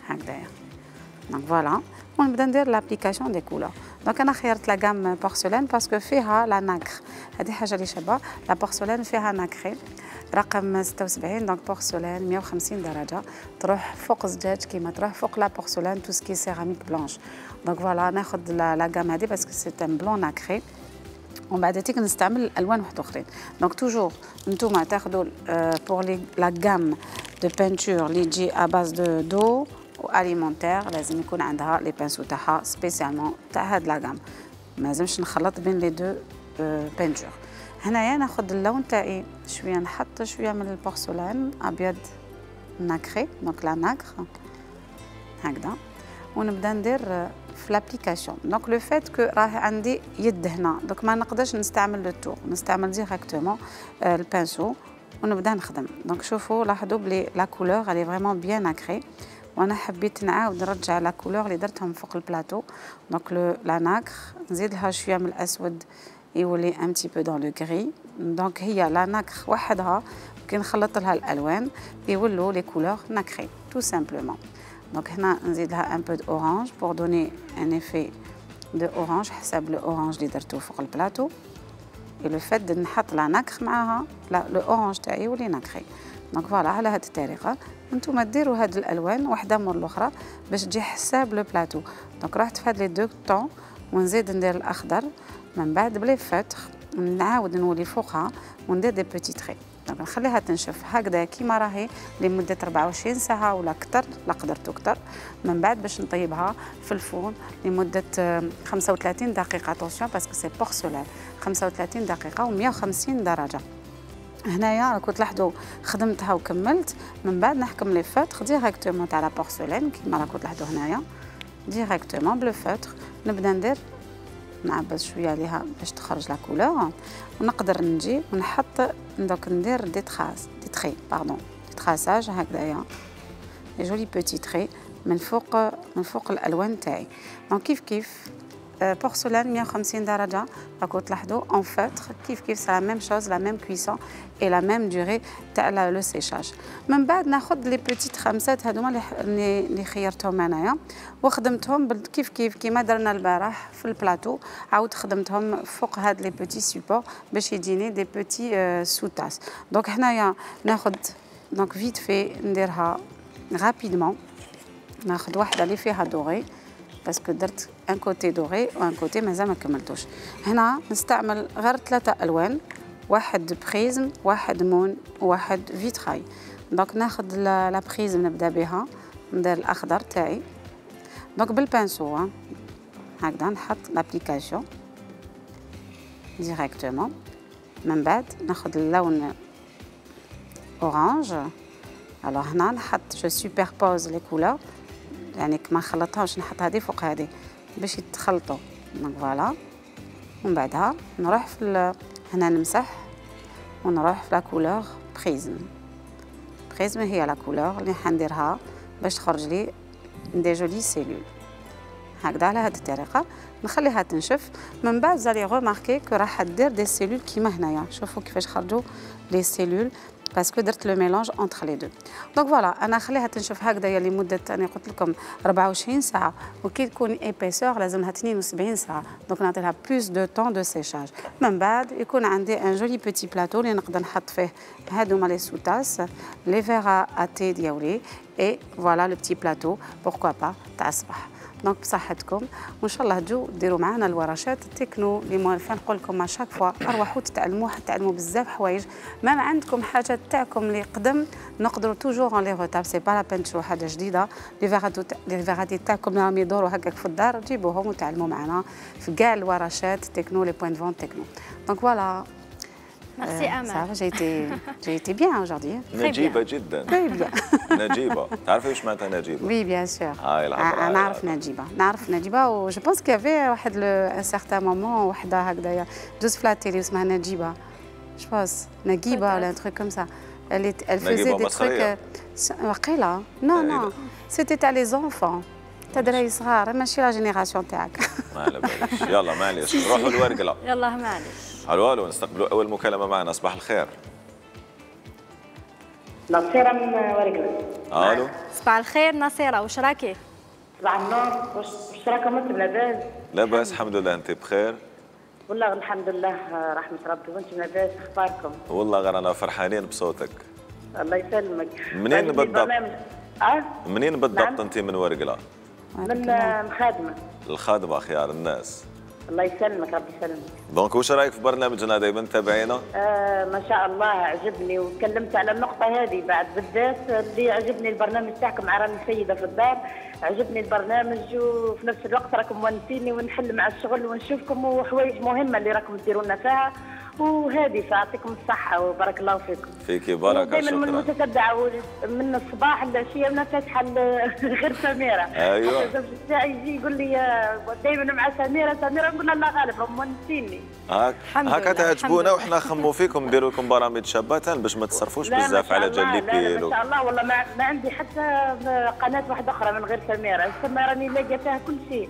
هكذايا. دونك فوالا ونبدا ندير لابليكاسيون دي كولور. دونك انا خيرت لا غام بورسلان باسكو فيها لا ناكر، هذه حاجه اللي شابه. لا بورسلان فيها ناكري رقم 76 دونك بورسلان 150 درجه تروح فوق الزجاج كيما تروح فوق لا بورسلان تو سكي سيراميك بلانش. دونك فوالا ناخذ لا غام هذه باسكو سي ان بلون ناكري، ومن بعد تيك نستعمل الالوان واحد اخرين. دونك توجور نتوما تاخذوا بور لي لا غام دو بانتور اللي تجي ا باز دو واليمونتير لازم يكون عندها لي بانسو تاعها سبيسيالمون تاع هاد لا غام، ما لازمش نخلط بين لي دو بانتور. هنايا ناخذ اللون تاعي شويه، نحط شويه من البورسلان ابيض ناكري دونك لا ناكر هكذا، ونبدا ندير في لابليكاسيون. دونك لو فات كو راه عندي يد هنا دونك ما نقدرش نستعمل لو تور، نستعمل ديريكتومون البانسو ونبدا نخدم. دونك شوفوا لاحظوا بلي لا كولور الي فريمون بيان ناكري، وانا حبيت نعاود نرجع لا كولور اللي درتهم فوق البلاطو. دونك لا ناكر نزيد لها شويه من الاسود يولي ان تي بو دون لو غري. دونك هي لا ناكر وحدها كي نخلط لها الالوان يولوا لي كولور ناكري تو سامبلومون. دونك هنا نزيد لها ان بو دو اورانج بور دوني ان ايفي دو اورانج حسب لو اورانج اللي درتو فوق البلاطو. لو فات نحط لا نكر معاها لا لو اورانج تاعي يولي نكري. دونك فوالا على هذه الطريقه انتم ديروا هاد الالوان وحده مور الاخرى باش تجي حساب لو بلاطو. دونك رحت في هاد لي دو طون ونزيد ندير الاخضر من بعد بلي فاتر نعاود نولي فوقها وندير دي بوتي تري. دونك نخليها تنشف هكذا كيما راهي لمده 24 ساعه ولا اكثر، لا قدرتو اكثر. من بعد باش نطيبها في الفرن لمده 35 دقيقه. اتونسيون باسكو سي بورسلان 35 دقيقه و150 درجه. هنايا راكم تلاحظوا خدمتها وكملت. من بعد نحكم لي فاتر ديريكتومون تاع لا بورسلان كيما راكم تلاحظوا هنايا ديريكتومون بلو فاتر. نبدا ندير نعبز شويه عليها باش تخرج لا كولور ونقدر نجي ونحط دوك ندير دي تري باردون دي تراساج هكذايا دي جولي بوتي تري من فوق الالوان تاعي. دونك كيف بورسلان 150 درجه راكم تلاحظوا اون فاتر كيف سا لا ميم شوز لا ميم كويسون اي لا ميم دوري تاع لو سيشاج. من بعد ناخذ لي بوتيت خمسات هذوما اللي خيرتهم انايا وخدمتهم كيف كيما درنا البارح في البلاطو. عاود خدمتهم فوق هاد لي بوتي سوبور باش يجيني دي بوتي سوتاس. دونك هنايا ناخذ دونك فيت في نديرها رابيدمون. ناخذ واحده اللي فيها دوري باسكو درت ان كوتي دوري وان كوتي مازال ما كملتوش. هنا نستعمل غير 3 الوان، واحد بريزم واحد مون وواحد فيتراي. دونك ناخذ لا بريزم نبدا بها ندير الاخضر تاعي. دونك بالبانسو هكذا نحط لابليكاسيون ديريكتومون. من بعد ناخذ اللون اورانج. الوغ هنا نحط جو سوبربوز لي كولور يعني ما نخلطهاش نحط هذه فوق هذه باش يتخلطوا. دونك فوالا ومن بعدها نروح في هنا نمسح ونروح في لا كولور بريزم هي لا كولور اللي حنديرها باش تخرج لي دي جولي سيلول هكذا على هذه الطريقه. نخليها تنشف. من بعد زالي غوماركي كو راح دير دي سيلول كيما هنايا. شوفوا كيفاش خرجوا لي سيلول باسكو درت لو ميلونج انتر لي دو. دونك فوالا انا نخليها تنشف هكذايا لمده انا قلت لكم 24 ساعه وكي تكون ايبيسور لازمها 72 ساعه. دونك نعطي لها بلوس دو طون دو سيشاج. من بعد يكون عندي ان جولي بوتي بلاطو اللي نقدر نحط فيه هادوما لي سوتاس لي فيغا اتي ديالي اي فوالا لو بتي بلاطو بوركوا با تاع الصباح. دونك بصحتكم وان شاء الله تجوا ديروا معنا الورشات التكنو اللي موالفين نقول لكم مع شاك فوا اروحوا تتعلموا بزاف حوايج. ما عندكم حاجات تاعكم اللي قدم نقدروا توجور اون لي روتاب سي با لا بين تشوفوا حاجه جديده. لي فيغاتي تاعكم راهم يدوروا هكاك في الدار جيبوهم وتعلموا معنا في كاع الورشات تكنو لي بوين فون تكنو. دونك فوالا Merci Amal. J'ai été bien aujourd'hui. نجيبة جدا. Très bien. نجيبة. تعرفي ايش معناتها نجيبة؟ Oui, bien sûr. هاي العبارة. نعرف نجيبة و جو بونس كي افي واحد ان سارتان مومون وحدة هكذايا جوز في لا تيلي اسمها نجيبة. جو بونس نجيبة ولا ان تروك كوم سا. Elle faisait des trucs وقيلة. Non. C'était تاع لي زونفون. تاع دراري صغار ماشي لا جينيراسيون تاعك. ما على باليش. يلا معليش نروحوا لورقلة. يلا معليش. الو نستقبلوا اول مكالمه معنا. صباح الخير. نصيرة من ورقلة. الو صباح الخير نصيرة، واش راكي؟ صباح النور، واش راكم انتم لاباس؟ لاباس الحمد لله. انت بخير؟ والله الحمد لله رحمة ربي. وانتم لاباس اخباركم؟ والله غير انا فرحانين بصوتك. الله يسلمك. منين بالضبط؟ منين بالضبط نعم. انت من ورقلة؟ من الخادمة. الخادمة خيار الناس. الله يسلمك ربي يسلمك. دونك واش رايك في برنامجنا دائما تابعينا؟ ما شاء الله عجبني وتكلمت على النقطة هذه بعد بالذات اللي عجبني البرنامج تاعكم مع راني سيدة في الدار. عجبني البرنامج وفي نفس الوقت راكم مونسيني ونحل مع الشغل ونشوفكم وحوايج مهمة اللي راكم ديروا لنا فيها وهذه فيعطيكم الصحة وبارك الله فيكم. فيكي بركة. دائما من متتبعة من الصباح للعشية وانا فاتحة غير سميرة. ايوه. الزوج تاعي يجي يقول لي دائما مع سميرة نقول له الله غالب هم مونسيني. هكا تعجبونا وحنا نخمو فيكم نديروا لكم برامج شابة باش ما تصرفوش بزاف على جليبيل. لا ما شاء الله والله ما عندي حتى قناة واحدة أخرى من غير سميرة. السميرة راني لاقية فيها كل شيء.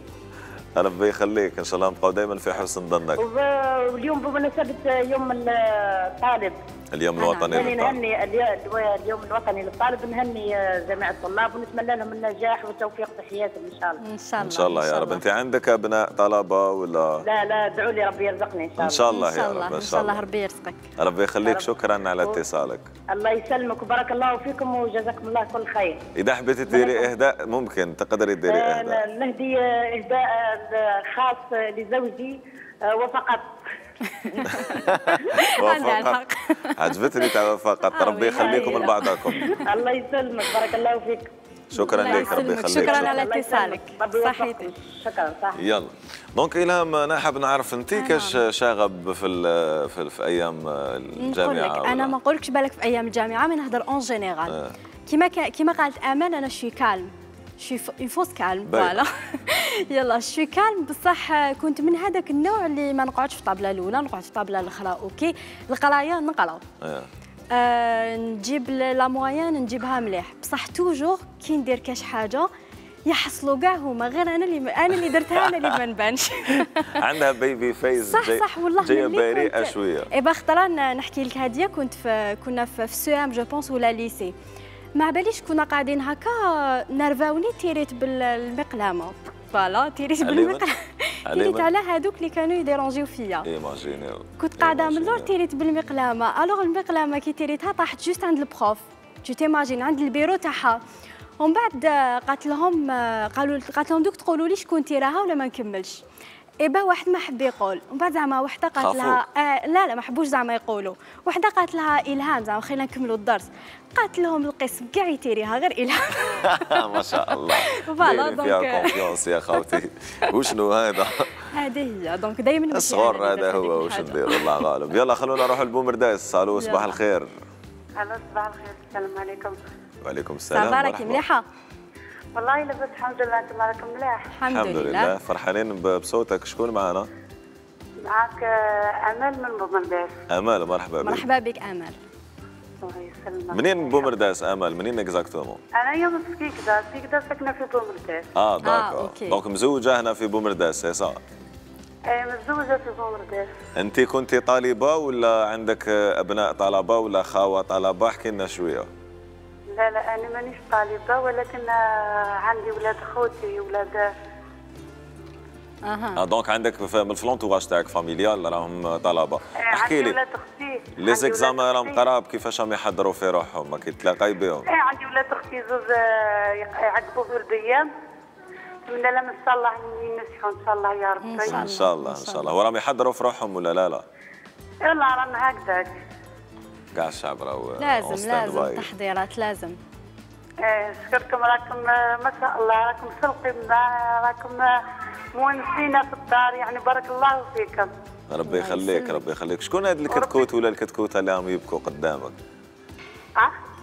ربي يخليك ان شاء الله نبقاو دائما في حسن ظنك. واليوم بمناسبة يوم الطالب اليوم الوطني للطالب. نهني اليوم الوطني للطالب، نهني جميع الطلاب ونتمنى لهم النجاح والتوفيق في حياتهم ان شاء الله. ان شاء الله ان شاء الله يا رب. انت عندك ابناء طلبه ولا؟ لا ادعوا لي ربي يرزقني ان شاء الله. ان شاء الله يا رب. ان شاء الله ربي يرزقك. ربي يخليك. شكرا على اتصالك. الله يسلمك وبارك الله فيكم وجزاكم الله كل خير. اذا حبيتي تديري اهداء ممكن تقدري تديري اهداء. نهدي اهداء خاص لزوجي وفقط. وفقط. عجبتني تاع فقط. ربي يخليكم لبعضكم. الله يسلمك بارك الله فيك. شكرا لك. ربي يخليك. شكرا على اتصالك. صحيتي. شكرا. صح. يلا دونك إلهام، انا حاب نعرف انت كاش شاغب في ايام الجامعه؟ نقول لك انا ما نقولكش بالك في ايام الجامعه، من نهضر اون جينيرال. كيما قالت امل انا شوي كالم، شوي اون فوس كالم فوالا. يلا شوي كالم بصح كنت من هذاك النوع اللي ما نقعدش في الطابله الاولى، نقعد في الطابله الاخرى. اوكي القرايه نقراو، نجيب لا موين نجيبها مليح، بصح توجور كي ندير كاش حاجه يحصلوا كاع هما، غير انا اللي درتها انا اللي ما نبانش. عندها بيبي فيس. صح والله جايه بريئه شويه. ايبا خطره نحكي لك هاديه، كنا في سو ام جو بونس ولا ليسي، ما باليش كنا قاعدين هكا نرفاوني تيريت بالمقلامه فوالا، تيريت بالمقلامه تيريت على هذوك اللي كانوا يديرونجيو فيا. ايماجينيو كنت قاعده من اللور تيريت بالمقلامه، الوغ المقلامه كي تيريتها طاحت جوست عند البروف، تو تيماجين عند البيرو تاعها. ومن بعد قالت لهم دوك تقولوا لي شكون تيراها ولا ما نكملش. إبا واحد ما حب يقول، ومن بعد زعما وحده قالت لها لا ما حبوش زعما يقولوا، وحده قالت لها إلهام زعما خلينا نكملوا الدرس، قالت لهم القسم كاع يتيريها غير إلهام. ما شاء الله. فوالا دونك فيها كونفيونس يا خوتي. وشنو هذا؟ هذه هي دونك دائما الصغر هذا هو واش ندير الله غالب. يلا خلونا نروحوا لبومرداس. الو صباح الخير. الو صباح الخير. السلام عليكم. وعليكم السلام. صباحك مليحه؟ والله لاباس الحمد لله. انتم راكم مليح؟ الحمد لله. فرحانين بصوتك. شكون معنا؟ معك امل من بومرداس. امل مرحبا بك. مرحبا بك امل. الله يسلمك. منين بومرداس امل؟ منين اكزاكتومون؟ انا من سكيكدا ساكنه في بومرداس. داكور. دونك مزوجه هنا في بومرداس سي صا؟ متزوجه في بومرداس. انت كنتِ طالبه ولا عندك ابناء طلبه ولا خاوه طلبه؟ احكي لنا شويه. لا انا مانيش طالبه، ولكن عندي ولاد خوتي ولاد. دونك عندك من الفلونتوراج تاعك فاميليال راهم طلبه. احكي لي. عندي ولاد اختي. لي زيكزامان راهم قراب، كيفاش راهم يحضروا في روحهم؟ ما كيتلاقاي بهم؟ عندي ولاد اختي زوج يعقبوا في البيام. نتمنى لهم ان شاء الله ينجحوا ان شاء الله يا ربي. ان شاء الله ان شاء الله. وراهم يحضروا في روحهم ولا لا؟ يلا رانا هكذاك. كاع الشعب راهو لازم تحضيرات لازم. شكركم. راكم ما شاء الله راكم سلقين، راكم مونسين في الدار، يعني بارك الله فيكم. ربي يخليك ربي يخليك. شكون هاد الكتكوت ولا الكتكوته اللي راهم يبكوا قدامك؟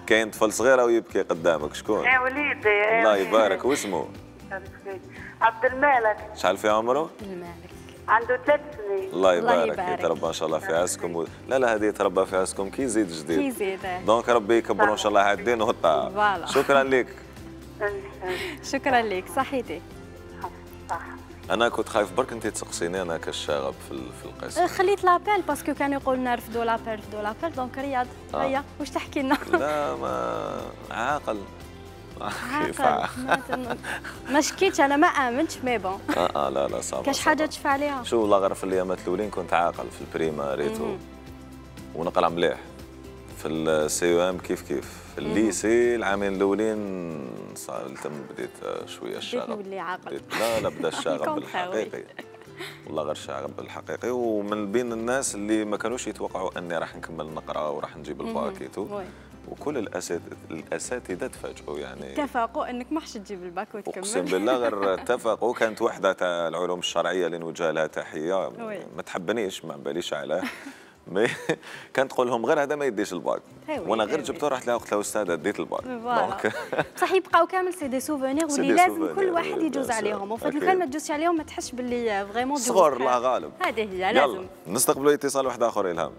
كاين طفل صغير ويبكي قدامك، شكون؟ وليدي. الله يبارك. واسمه؟ عبد المالك. شحال في عمره؟ المالك. عنده 3 سنين. الله يبارك. يتربى ان شاء الله في عزكم لا هذه يتربى في عزكم كي يزيد جديد. كي يزيد. دونك ربي يكبروا ان شاء الله على الدين والطاعه. شكرا لك. شكرا لك. صحيتي. صح. انا كنت خايف برك انت تسقسيني انا كالشاغب في القسم. خليت لابيل باسكو كانوا يقولوا لنا رفدوا لابيل دونك رياض. هيا واش تحكي لنا؟ لا ما عاقل. ما شكيتش انا ما امنتش مي بون. لا صافي. كاش حاجه تشفى عليها؟ شو والله غير في الايامات الاولين كنت عاقل في البريماريتو ونقرا مليح. في السي ام كيف في الليسي العامين الاولين تم بديت شويه الشغب. بديت عاقل. لا بدا الشغب بالحقيقي. والله غير الشغب بالحقيقي. ومن بين الناس اللي ما كانوش يتوقعوا اني راح نكمل نقرا وراح نجيب الباكيتو. وكل الاساتذه تفاجئوا يعني اتفقوا انك ما حش تجيب الباك وتكمل. اقسم بالله غير اتفقوا. كانت وحده تاع العلوم الشرعيه اللي نوجه لها تحيه ما تحبنيش ما باليش عليه. كانت تقول لهم غير هذا ما يديش الباك، وانا غير جبته رحت لها قلت لها استاذه ديت الباك. دونك صح يبقاو كامل سي دي سوفونير واللي لازم كل واحد يجوز عليهم، وفات لو كان ما تجوزش عليهم ما تحسش باللي فريمون صغر الله غالب. هذه هي لازم. يلا نستقبلوا اتصال واحد اخر. الهام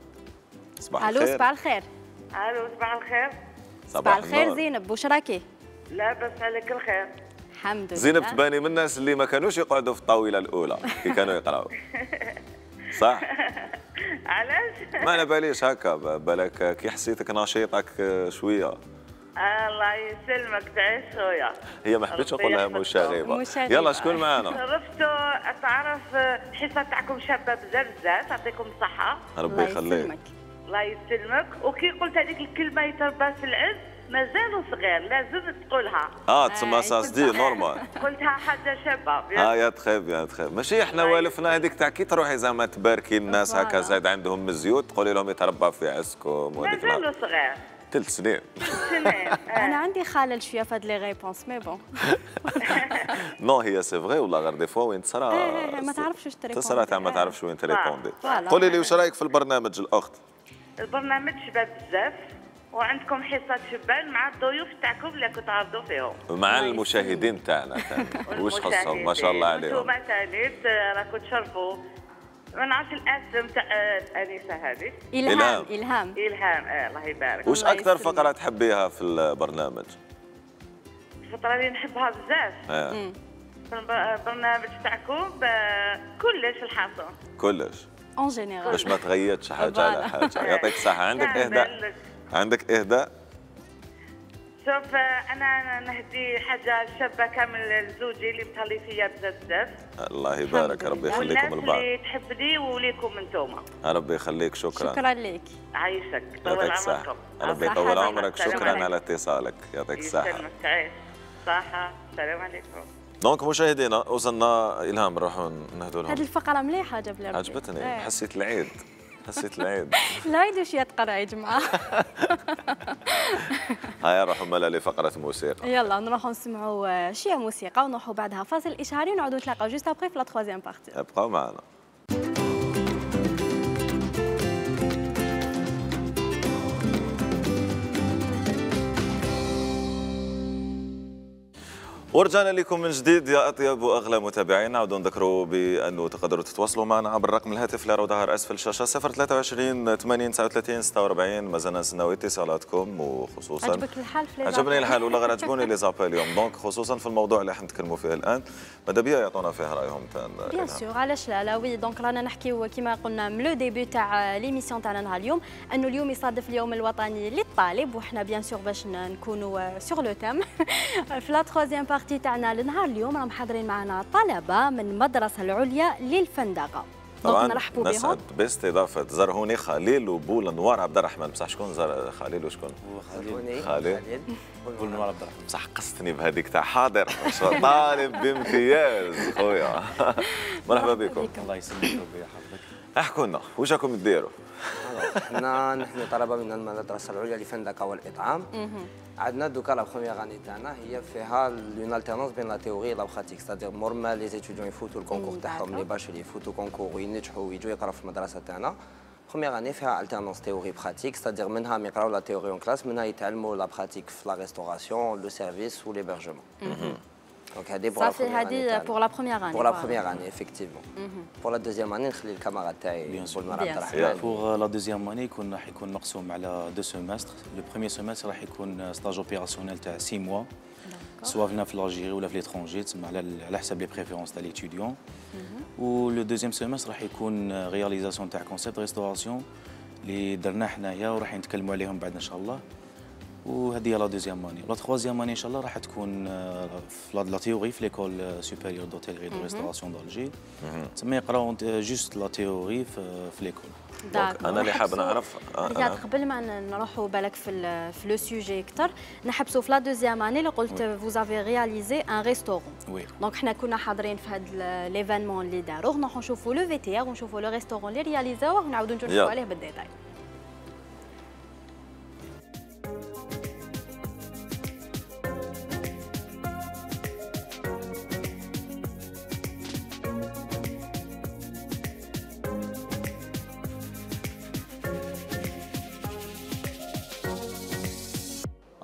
صباح الخير. الو صباح الخير. الو صباح الخير. صباح الخير زينب، واش راكي؟ لاباس عليك الخير. الحمد لله. زينب تباني من الناس اللي ما كانوش يقعدوا في الطاوله الاولى كي كانوا يقراوا. صح؟ علاش؟ ما على باليش هكا، بالك كي حسيتك نشيطك شويه. الله يسلمك تعيش خويا. هي ما حبيتش نقول لها مشاغبه. يلا شكون معنا؟ شرفتوا تعرف الحصه تاعكم شابه بزاف بزاف، يعطيكم الصحه. ربي يخليك. الله يسلمك. وكي قلت هذيك الكلمه يتربى في العز مازالوا صغير لازم تقولها. تسمى ساسدي نورمال. قلتها حاجه شابه. يا تخيب يا تخيب. ماشي احنا والفنا هذيك تاع كي تروحي زعما تباركي الناس هكا زايد عندهم من الزيوت تقولي لهم يتربى في عزكم وهذيك مازالوا صغير. 3 سنين. انا عندي خلل شويه في هاد لي ريبونس مي بون. نو هي سي فغي ولا غير دي فوا وين تصرا ما تعرفش واش تريبوندي. تصرا تاع ما تعرفش وين تريبوندي. قولي لي واش رايك في البرنامج الاخت؟ البرنامج شباب بزاف وعندكم حصه شبان مع الضيوف تاعكم اللي كتعرضوا فيهم مع المشاهدين تاعنا واش خصهم ما شاء الله عليهم. انتم ثاني راكم تشرفوا. ما نعرفش الاسم تاع الانسه هذه. الهام. الله يبارك. واش اكثر فقره تحبيها في البرنامج؟ الفتره اللي نحبها بزاف البرنامج تاعكم كلش الحصه. كلش اون جينيرال باش ما تغيرش حاجه على حاجه. يعطيك الصحه. عندك اهداء؟ شوف انا نهدي حاجه شابه كامل لزوجي اللي متهلي فيا بزاف. الله يبارك. ربي يخليكم البعض. اللي تحبني وليكم انتوما. ربي يخليك. شكرا لك. عايشك طول عمركم. ربي يطول عمرك. شكرا على اتصالك. يعطيك الصحه. تعيش صحه. السلام عليكم. دونك مشاهدينا وصلنا الهام نروحوا نهدوا لهم. هذه الفقره مليحه جاب لي عجبتني. حسيت العيد. العيد وش يتقرا يا جماعه. هيا نروحوا مالا لفقره موسيقى. يلا نروحوا نسمعوا شويه موسيقى ونروحوا بعدها فاصل اشهاري ونعودوا نتلاقاو جوست ابري في لا 3 بارتي. ابقاو معنا. ورجعنا لكم من جديد يا اطيب واغلى متابعين. نعاودوا نذكروا بانه تقدروا تتواصلوا معنا عبر رقم الهاتف اللي راه ظاهر اسفل الشاشه 023 80 39 46. مازلنا نستناو اتصالاتكم وخصوصا عجبك الحال في عجبني الحال ولا غير عجبوني لي زابيل اليوم. دونك خصوصا في الموضوع اللي حنتكلموا فيه الان ماذا بيا يعطونا فيه رايهم تاع بيان سور. علاش لا وي. دونك رانا نحكيو كما قلنا من لو ديبي تاع ليميسيون تاعنا نهار اليوم انه اليوم يصادف اليوم الوطني للطالب وحنا بيان سور باش نكونوا سور لو تام في لا 3 بارتي تاعنا لنهار اليوم راهم حاضرين معنا طلبه من المدرسه العليا للفندقه. طبعا نسعد باستضافه زرهوني خليل وبول نوار عبد الرحمن. بصح شكون خليل وشكون؟ خليل بول نوار عبد الرحمن. بصح قصتني بهذيك تاع حاضر طالب بامتياز خويا. مرحبا بكم. الله يسلمك ربي يحفظك. احكوا لنا واش راكم ديروا؟ نحن طلبه من المدرسه العليا للفندقه والاطعام. عندنا دوكا لا بروميير اني تاعنا هي فيها اون التيرنونس بين لا تيوري لا براتيك ستادير مورما لي زيتيديون يفوتوا الكونكور تاعهم لي باش اللي يفوتوا كونكور وينجحوا ويجوا يقراو في المدرسه تاعنا. بروميير اني فيها التيرنونس تيوري براتيك ستادير منها يقراو لا تيوري اون كلاس منها يتعلموا لا براتيك في لا ريستوراسيون لو سيرفيس وليبرجمون. Donc, pour la première année. Pour la première année, effectivement. Pour la deuxième année, نخلي الكاميرا تاعي Pour la deuxième année, راح يكون مقسوم على 2 semestres. Le premier semestre راح يكون stage opérationnel تاع 6 mois. سواء في الجيري ولا في l'étranger تسمى على حسب les préférences تاع l'étudiant. و le deuxième semestre راح يكون réalisation تاع concept restauration اللي درناه حنايا وراح نتكلموا عليهم بعد ان شاء الله. وهذه هي لا دوزيام اني. لا تخوازيام اني ان شاء الله راح تكون في لا تيوري في ليكول سوبيريور دوتيلري دو ريستوراسيون دالجي. تسمى يقراو جوست لا تيوري في ليكول. انا اللي حاب نعرف قبل ما نروحوا بالك في لو سوجي اكثر نحبسوا في لا دوزيام اني اللي قلت فوزافي رياليزي ان ريستورون. دونك حنا كنا حاضرين في هذا ليفينمون اللي داروه نروحوا نشوفوا لو في تي ار ونشوفوا لو ريستورون اللي رياليزاوه ونعاودوا نشوفوا عليه بالديتاي.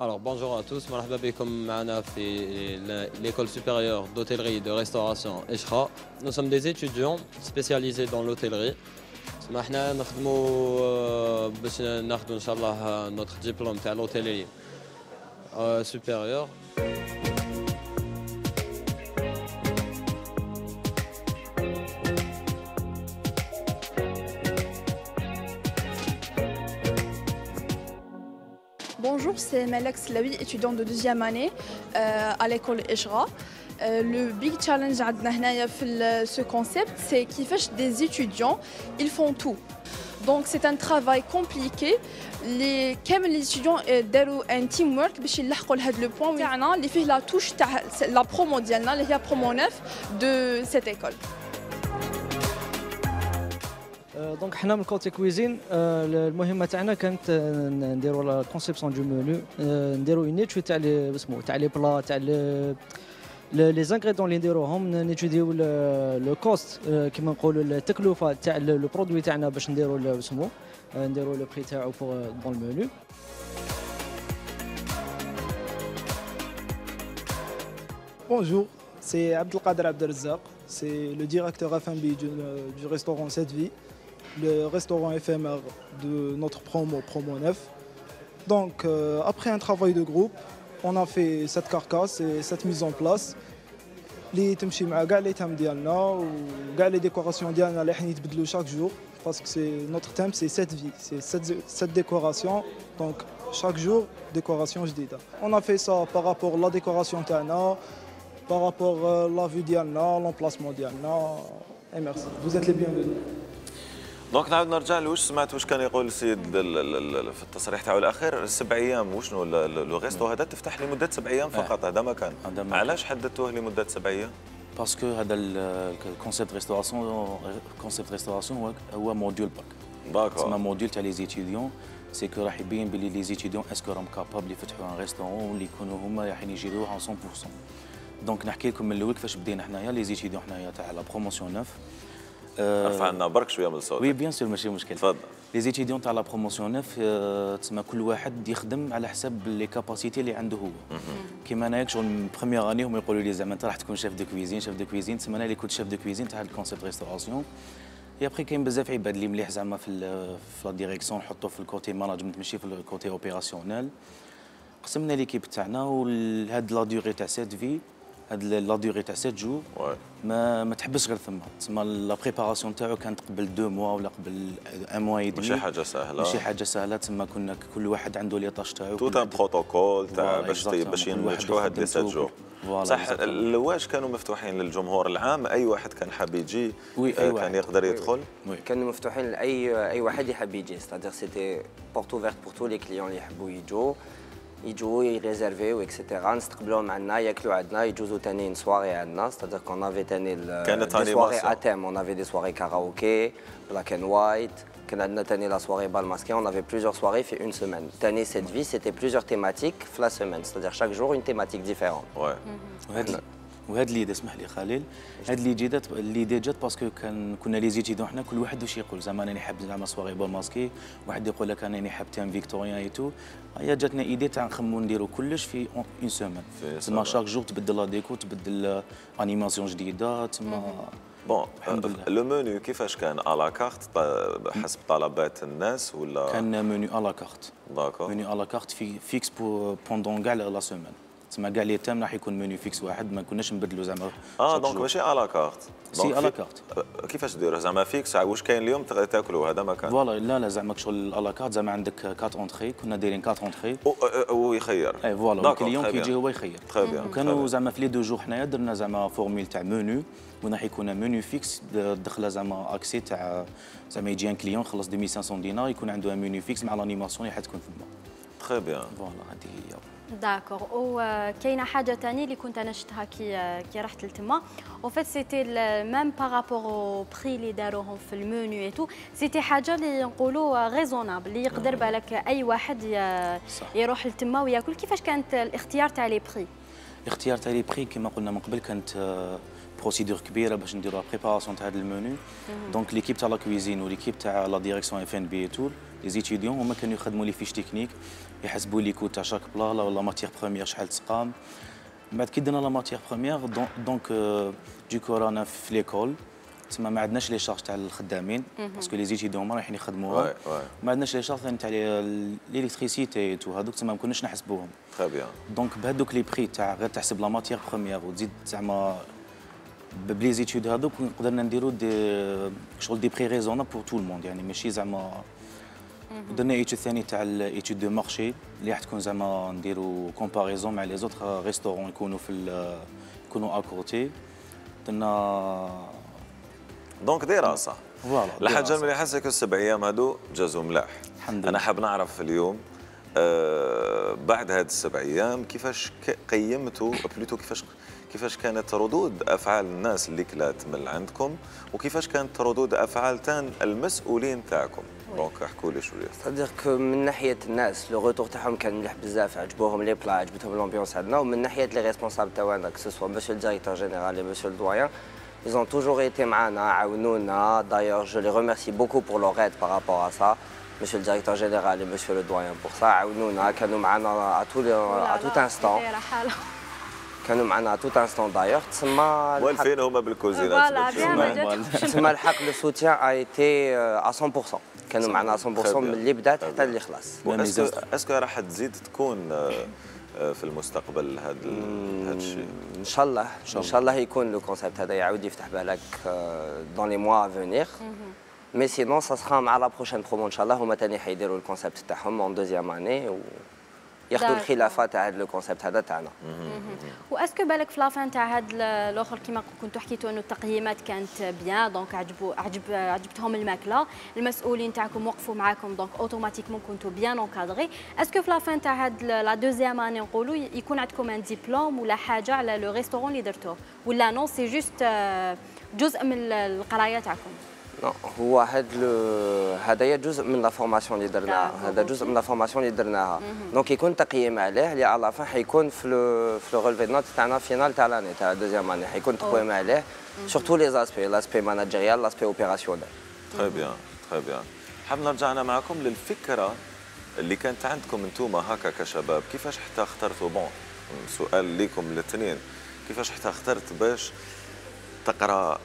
Alors bonjour à tous, مرحبا بكم معنا في l'école supérieure d'hôtellerie et de restauration Eshra. Nous sommes des étudiants spécialisés dans l'hôtellerie. احنا نخدموا باش ناخذوا ان شاء الله notre diplôme تاع l'hôtellerie supérieure. bonjour, c'est Malak Slaoui, étudiante de deuxième année à l'école Eshra. Le big challenge عندنا هنايا في ce concept, c'est كيفاش des étudiants, ils font tout. Donc c'est un travail compliqué. Les كامل les étudiants داروا un teamwork باش يلحقوا لهذا لو بوين تاعنا اللي فيه لا توش تاع لا برومو ديالنا اللي هي برومو 9 de cette école. دونك حنا من كوتي كويزين المهمه تاعنا كانت نديروا لا كونسيبسيون دو مونو نديروا اون ايتود تاع اسمو تاع لي بلا تاع لي زانغريدون اللي نديروهم نيتوديو لو كوست كيما نقولوا التكلفه تاع لو برودوي تاعنا باش نديروا اسمو نديروا لو بري تاعو دون المونو. Bonjour, c'est Abdelkader Abdelrazak, c'est le directeur F&B du restaurant Cette Vie, le restaurant éphémère de notre promo 9. Donc après un travail de groupe, on a fait cette carcasse et cette mise en place. اللي تمشي مع كاع لي تام ديالنا وكاع لي ديكوراسيون ديالنا اللي حنا يتبدلوا chaque jour parce que c'est notre thème c'est cette vie, c'est cette décoration. Donc chaque jour décoration جديدة. On a fait ça par rapport à la décoration تاعنا, par rapport à la vue ديالنا, l'emplacement ديالنا. Et merci. Vous êtes les bienvenus. دونك نعاود نرجع له. واش سمعت واش كان يقول السيد في التصريح تاعو الاخير 7 ايام وشنو لو ريستو هذا تفتح لمده 7 ايام فقط. هذا ما كان. علاش حددتوه لمده 7 ايام؟ باسكو هذا الكونسيبت ريستوراسيون هو موديول باك. داكور. تسمى موديول تاع لي زيتيديون سي كو راح يبين بلي لي زيتيديون اسكو راهم كابابل يفتحوا ان ريستورون اللي يكونوا هما رايحين يجيروه 100%. دونك نحكي لكم من الاول كيفاش بدينا حنايا لي زيتيديون حنايا تاع لا بروموسيون 9. ارفع لنا برك شويه من الصوت. وي بيان سور ماشي مشكل. تفضل. لي زيتيديون تاع لا بروموسيون 9 تسمى كل واحد يخدم على حسب لي كاباسيتي اللي عنده هو. كيما انايا شغل من بروميير اني هما يقولوا لي زعما انت راح تكون شيف دو كويزين تسمى انا اللي كنت شيف دو كويزين تاع الكونسيبت ريستوراسيون. اي ابخي كاين بزاف عباد اللي مليح زعما في لا ديريكسيون نحطو في الكوتي ماناجمنت ماشي في الكوتي اوبيراسيونيل. قسمنا ليكيب تاعنا وهاد لا ديوري تاع سيت في هاد لا ديوري تاع 7 جور ما تحبش غير ثما. تسمى لا بريباراسيون تاعو كانت قبل 2 موا ولا قبل 1 موا يدمي. ماشي حاجه سهله. تسمى كنا كل واحد عنده لي طاش تاعو. توت ان بروتوكول تاع باش ينجحوا هاد لي 7 جور. صح. واش كانوا مفتوحين للجمهور العام؟ اي واحد كان حاب يجي كان يقدر يدخل؟ كانوا مفتوحين لاي واحد يحب يجي. ستادير سيتي بورتو فيرت بور تو لي كليون اللي يحبوا يجوا يريزيرفيو اكسيتيرا. نستقبلوهم عندنا ياكلوا عندنا يجوزوا ثاني سواري عندنا. ستادير كون افي ثاني دي سواري اتام. اون افي دي سواري كاراوكي بلاك اند وايت. كان عندنا ثاني لا سواري بال ماسكي. اون افي بليزيور سواري في اون سيمين. ثاني سيت في سيتي بليزيور تيماتيك في لا سيمين. ستادير شاك جور اون تيماتيك ديفيرون. وهاد اللي اسمح لي خليل هاد اللي جات باسكو كنا لي زيتيدون حنا كل واحد واش يقول. زعما انا حاب زعما سواري بول ماسكي واحد يقول لك انا حاب تام فيكتوريان اي تو. هيا جاتنا ايدي تاع نخمو نديرو كلش في اون سيمين. تما شاك جور تبدل لا ديكو تبدل انيماسيون جديده. تما بون لو مونيو كيفاش كان؟ على كارت حسب طلبات الناس ولا كان مونيو على كارت؟ داكور. مونيو على كارت فيكس بوندون كاع لا سيمين. تسمى كاع لي تام راح يكون مونيو فيكس واحد ما كناش نبدلوا زعما. دونك ماشي على كارت. سي على كارت. كيفاش ديروه زعما فيكس؟ واش كاين اليوم تاكلوا هذا ما كان؟ فوالا لا زعما شغل على كارت. زعما عندك 4 اونتري. كنا دايرين 4 اونتري ويخير. اي فوالا الكليون كيجي هو يخير. وكانوا زعما في لي 2 جور حنايا درنا زعما فورميل تاع مونيو وين راح يكون مونيو فيكس دخله زعما اكسي تاع زعما يجي ان كليون خلص 2500 دينار يكون عنده مونيو فيكس مع لانيماسيون اللي حتكون ثما. تري بيان. فوالا هذه هي. داكور. وكاينه حاجه ثانيه اللي كنت انا شفتها كي رحت لتما او فيت سيتي ميم بارابور او بري اللي داروهم في المنيو اي تو. سيتي حاجه اللي نقولوا ريزونابل اللي يقدر بالك اي واحد يروح لتما وياكل. كيفاش كانت الاختيار تاع لي بري؟ الاختيار تاع لي بري كما قلنا من قبل كانت بروسيدور كبيره باش نديروا بريباراسيون تاع هذا المنيو. دونك ليكيب تاع لا كويزين وليكيب تاع لا ديريكسيون اف ان بي اي تو لي زيتيديون هما كانوا يخدموا لي فيش تكنيك يحسبوا لي كوت تاع شاك بلا ولا ماتيير بروميير شحال تسقام. من بعد كي درنا لا ماتيير بروميير دونك دوكو رانا في ليكول تما ما عندناش لي شارج تاع الخدامين باسكو لي زيتيديون هما رايحين يخدموها. ما عندناش لي شارج تاع ليليكتريسيتي تو هذوك تما ما كناش نحسبوهم. تري بيان. دونك بهذوك لي بري تاع غير تحسب لا ماتيير بروميير وتزيد زعما بلي زيتود هذوك قدرنا نديرو شغل دي بري ريزونابل بور تو الموند. يعني ماشي زعما درنا ايتود ثاني تاع الايتود دو مارشي اللي راح تكون زعما نديروا كومباريزون مع لي زوتر ريستورون يكونوا يكونوا اكوتي. درنا دونك دراسه. فوالا الحاجه اللي حاسك السبع ايام هادو جازوا ملاح. انا حاب نعرف اليوم بعد هاد السبع ايام كيفاش قيمتوا بلوتو كيفاش كانت ردود افعال الناس اللي كلات من عندكم وكيفاش كانت ردود افعال تان المسؤولين تاعكم. دونك احكوا لي شويه. صدق من ناحيه الناس لو روتور تاعهم كان مليح بزاف، عجبوهم لي بلا، عجبتهم الامبيونس عندنا. ومن ناحيه لي ريسبونسابل تاعنا كسوا مسيو الديريكتور جينيرال et مسيو الدويان ils ont toujours été معنا عاونونا. d'ailleurs je les remercie beaucoup pour leur aide par rapport à ça. Monsieur le directeur général et monsieur le doyen pour ça عاونونا، كانوا معنا à tout instant. كانوا معنا à tout instant d'ailleurs. تسمى والفين هما بالكوزينات. تسمى الحق لو سوتيان a été à 100%. كانوا معنا 100% من اللي بدات حتى اللي خلاص. اسكو راح تزيد تكون في المستقبل هذا الشيء؟ ان شاء الله ان شاء الله يكون لو كونسيبت هذا يعاود يفتح بالك دون لي موا افونيغ. مي سينون سا سخا مع لا بروشين برومو ان شاء الله. هما ثاني حيديروا الكونسيبت تاعهم اون دوزيام اني ياخذوا الخلافه تاع هذا الكونسيبت هذا تاعنا. واسكو بالك في لافان تاع هذا الاخر كيما كنتوا حكيتوا انه التقييمات كانت بيان، دونك عجبتهم الماكله، المسؤولين تاعكم وقفوا معاكم، دونك اوتوماتيكمون كنتوا بيان اونكادري. اسكو في لافان تاع هذا لا دوزيام اني نقولوا يكون عندكم ان ديبلوم ولا حاجه على لو ريستورون اللي درتوه، ولا نو سي جوست جزء من القرايه تاعكم؟ هو هذايا جزء من لا فورماسيون اللي درناها، هذا جزء من لا فورماسيون اللي درناها. دونك يكون تقييم عليه اللي على فان حيكون في لو ريلفي نوت تاعنا فينال تاع لاني تاع دوزيام اني، حيكون تقييم عليه سورتو لي زاسبي، لاسبي ماناجيريال، لاسبي اوبيراسيونيل. تري بيان تري بيان. حاب نرجع انا معكم للفكره اللي كانت عندكم انتم هكا كشباب، كيفاش حتى اخترتوا بون سؤال ليكم الاثنين، كيفاش حتى اخترت باش تقرا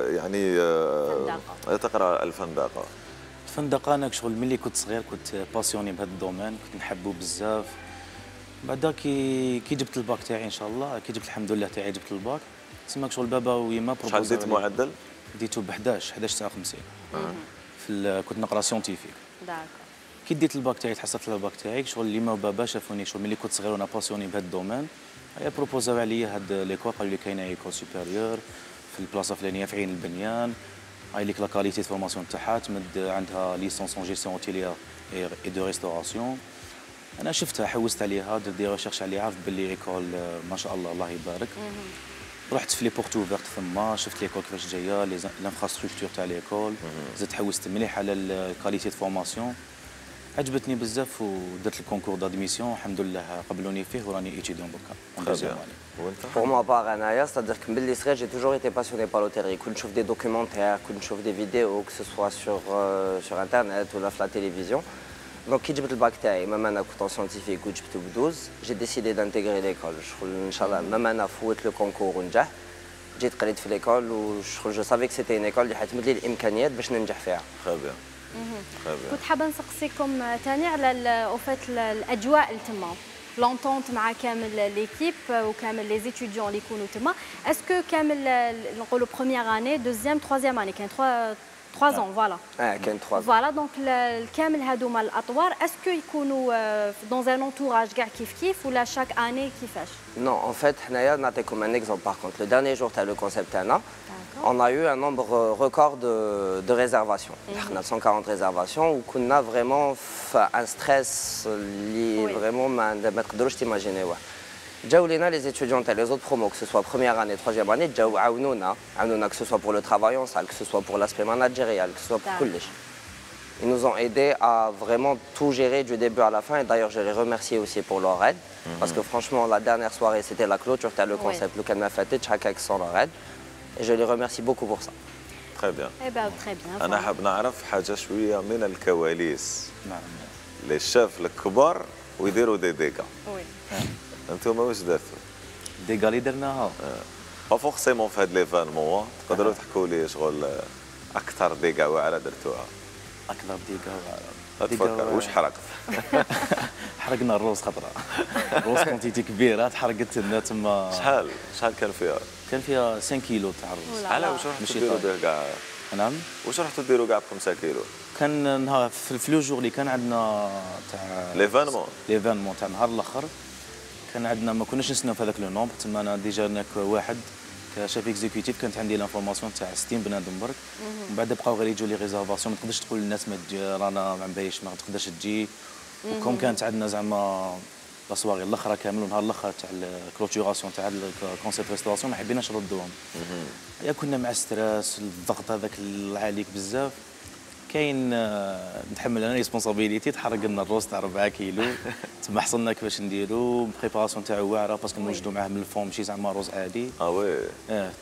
يعني تقرا الفندقه؟ الفندقه انا شغل ملي كنت صغير كنت باسيوني بهذا الدومين، كنت نحبه بزاف. بعدا كي جبت الباك تاعي ان شاء الله، كي جبت الحمد لله تاعي جبت الباك، تسمى شغل بابا ويما شحال ديت معدل؟ ديتو ب 11.59. كنت نقرا سيونتيفيك. داكور. كي ديت الباك تاعي تحصلت على الباك تاعي، شغل يما وبابا شافوني شغل ملي كنت صغير وانا باسيوني بهذا الدومين، بروبوزاو عليا هاد ليكول، قالوا لي كاينه ايكول سوبيريور في البلاصه الفلانيه في عين البنيان، هاي ليك لا كاليتي فورماسيون تاعها، تمد عندها ليسونس اون جيستيون اوتيليير اي دو ريستوراسيون. انا شفتها حوست عليها، درت دي ريشيرش عليها، عرفت باللي ايكول ما شاء الله الله يبارك. رحت في لي بورت اوفيرت ثما، شفت ليكول كيفاش جايه، لانفراستركتور تاع ليكول، زدت حوست مليح على الكاليتي فورماسيون، عجبتني بزاف ودرت الكونكور دادميسيون، الحمد لله قبلوني فيه وراني ايتيديون دوكا. وانت؟ بور موا بار انايا ستادير كو ملي صغير جي توجور ايتي باسيوني بار لوتيلري، كنت نشوف دي دوكيومونتير، كنت نشوف دي فيديو كو سوا سور انترنت ولا في لا تيليفزيون. دونك كي جبت الباك تاعي مام انا كنت سيونتيفيك وجبته ب12، جي ديسيدي دانتيغري ليكول. شغل ان شاء الله مام انا فوت لو كونكور ونجح، جيت قريت في ليكول وشغل جو سافيك سيتي ان ايكول اللي حتمد لي الامكانيات باش ننجح فيها. تري بيان. كنت حابه نسقسيكم ثاني على اوفات الاجواء اللي تما، لونتونت مع كامل ليكيب وكامل لي زيتيديون اللي يكونوا تما. اسكو كامل نقولوا بروميير اني دوزيام تروازيام اني كان 3 ans فوالا. كاين 3 ans فوالا. دونك الكامل هذوما الاطوار اسكو يكونوا دون ان انتوراج كاع كيف ولا شاك اني كيفاش؟ نو ان فيت حنايا نعطيكم ان اكزومبل. باغ كونت لو ديرني جور تاع لو كونسيبت تاعنا on a eu un nombre record de réservations. On a 140 réservations où on a vraiment un stress lié vraiment ما تقدروش تيماجينيوه. جاو لينا les étudiants تاع les autres promos que ce soit première année, troisième année, جاو عاونونا que ce soit pour le travail en salle, que ce soit pour l'aspect managérial, que ce soit pour كلش. Ils nous ont aidés à vraiment tout gérer du début à la fin et d'ailleurs je les remercie aussi pour leur aide parce que franchement la dernière soirée c'était la clôture تاع le concept لو كان ما فاتتش هكاك sans leur aide. Et je les remercie beaucoup pour ça. Très bien. Eh bien, très bien. أنا حاب نعرف حاجة شوية من الكواليس. نعم. للشيف الكبار ويديروا دي ديكا. وي. أنتم واش درتوا؟ ديكا اللي درناها. با فورسيمون في هاد ليفينمون، تقدروا تحكوا لي شغل أكثر ديكا واعرة درتوها. أكثر ديكا واعرة. تفكر واش حرقت؟ حرقنا الروز خطرة. الروز كونتيتي كبيرة تحرقت لنا تما. شحال كان فيها؟ كان فيها 5 كيلو تاع الرز. على واش راح تديروا به كاع؟ نعم. واش رحتوا ديروا كاع ب 5 كيلو؟ كان نهار في لو جور اللي كان عندنا تاع ليفينمون تاع نهار الاخر، كان عندنا ما كناش نستناو في هذاك لو نومبر. تما انا ديجا هناك واحد كشاف اكزيكوتيف كانت عندي لانفورماسيون تاع 60 بنادم برك. ومن بعد بقاو غير يجوا لي ريزرفاسيون، ما تقدرش تقول للناس ما تجي رانا ما نبيش ما تقدرش تجي. وكم كانت عندنا زعما لا سواغي الاخرى كامل ونهار الاخر تاع الكلوتوراسيون تاع الكونسيبت ريستوراسيون ما حبيناش نردوهم. يا كنا مع ستريس الضغط هذاك العاليك بزاف. كاين نتحمل انا ريسبونسابيلتي تحرق لنا الروز تاع 4 كيلو. تما حصلنا كيفاش نديرو بريباراسيون تاعو واعره باسكو نوجدوا معاه من الفوم ماشي زعما روز عادي. وي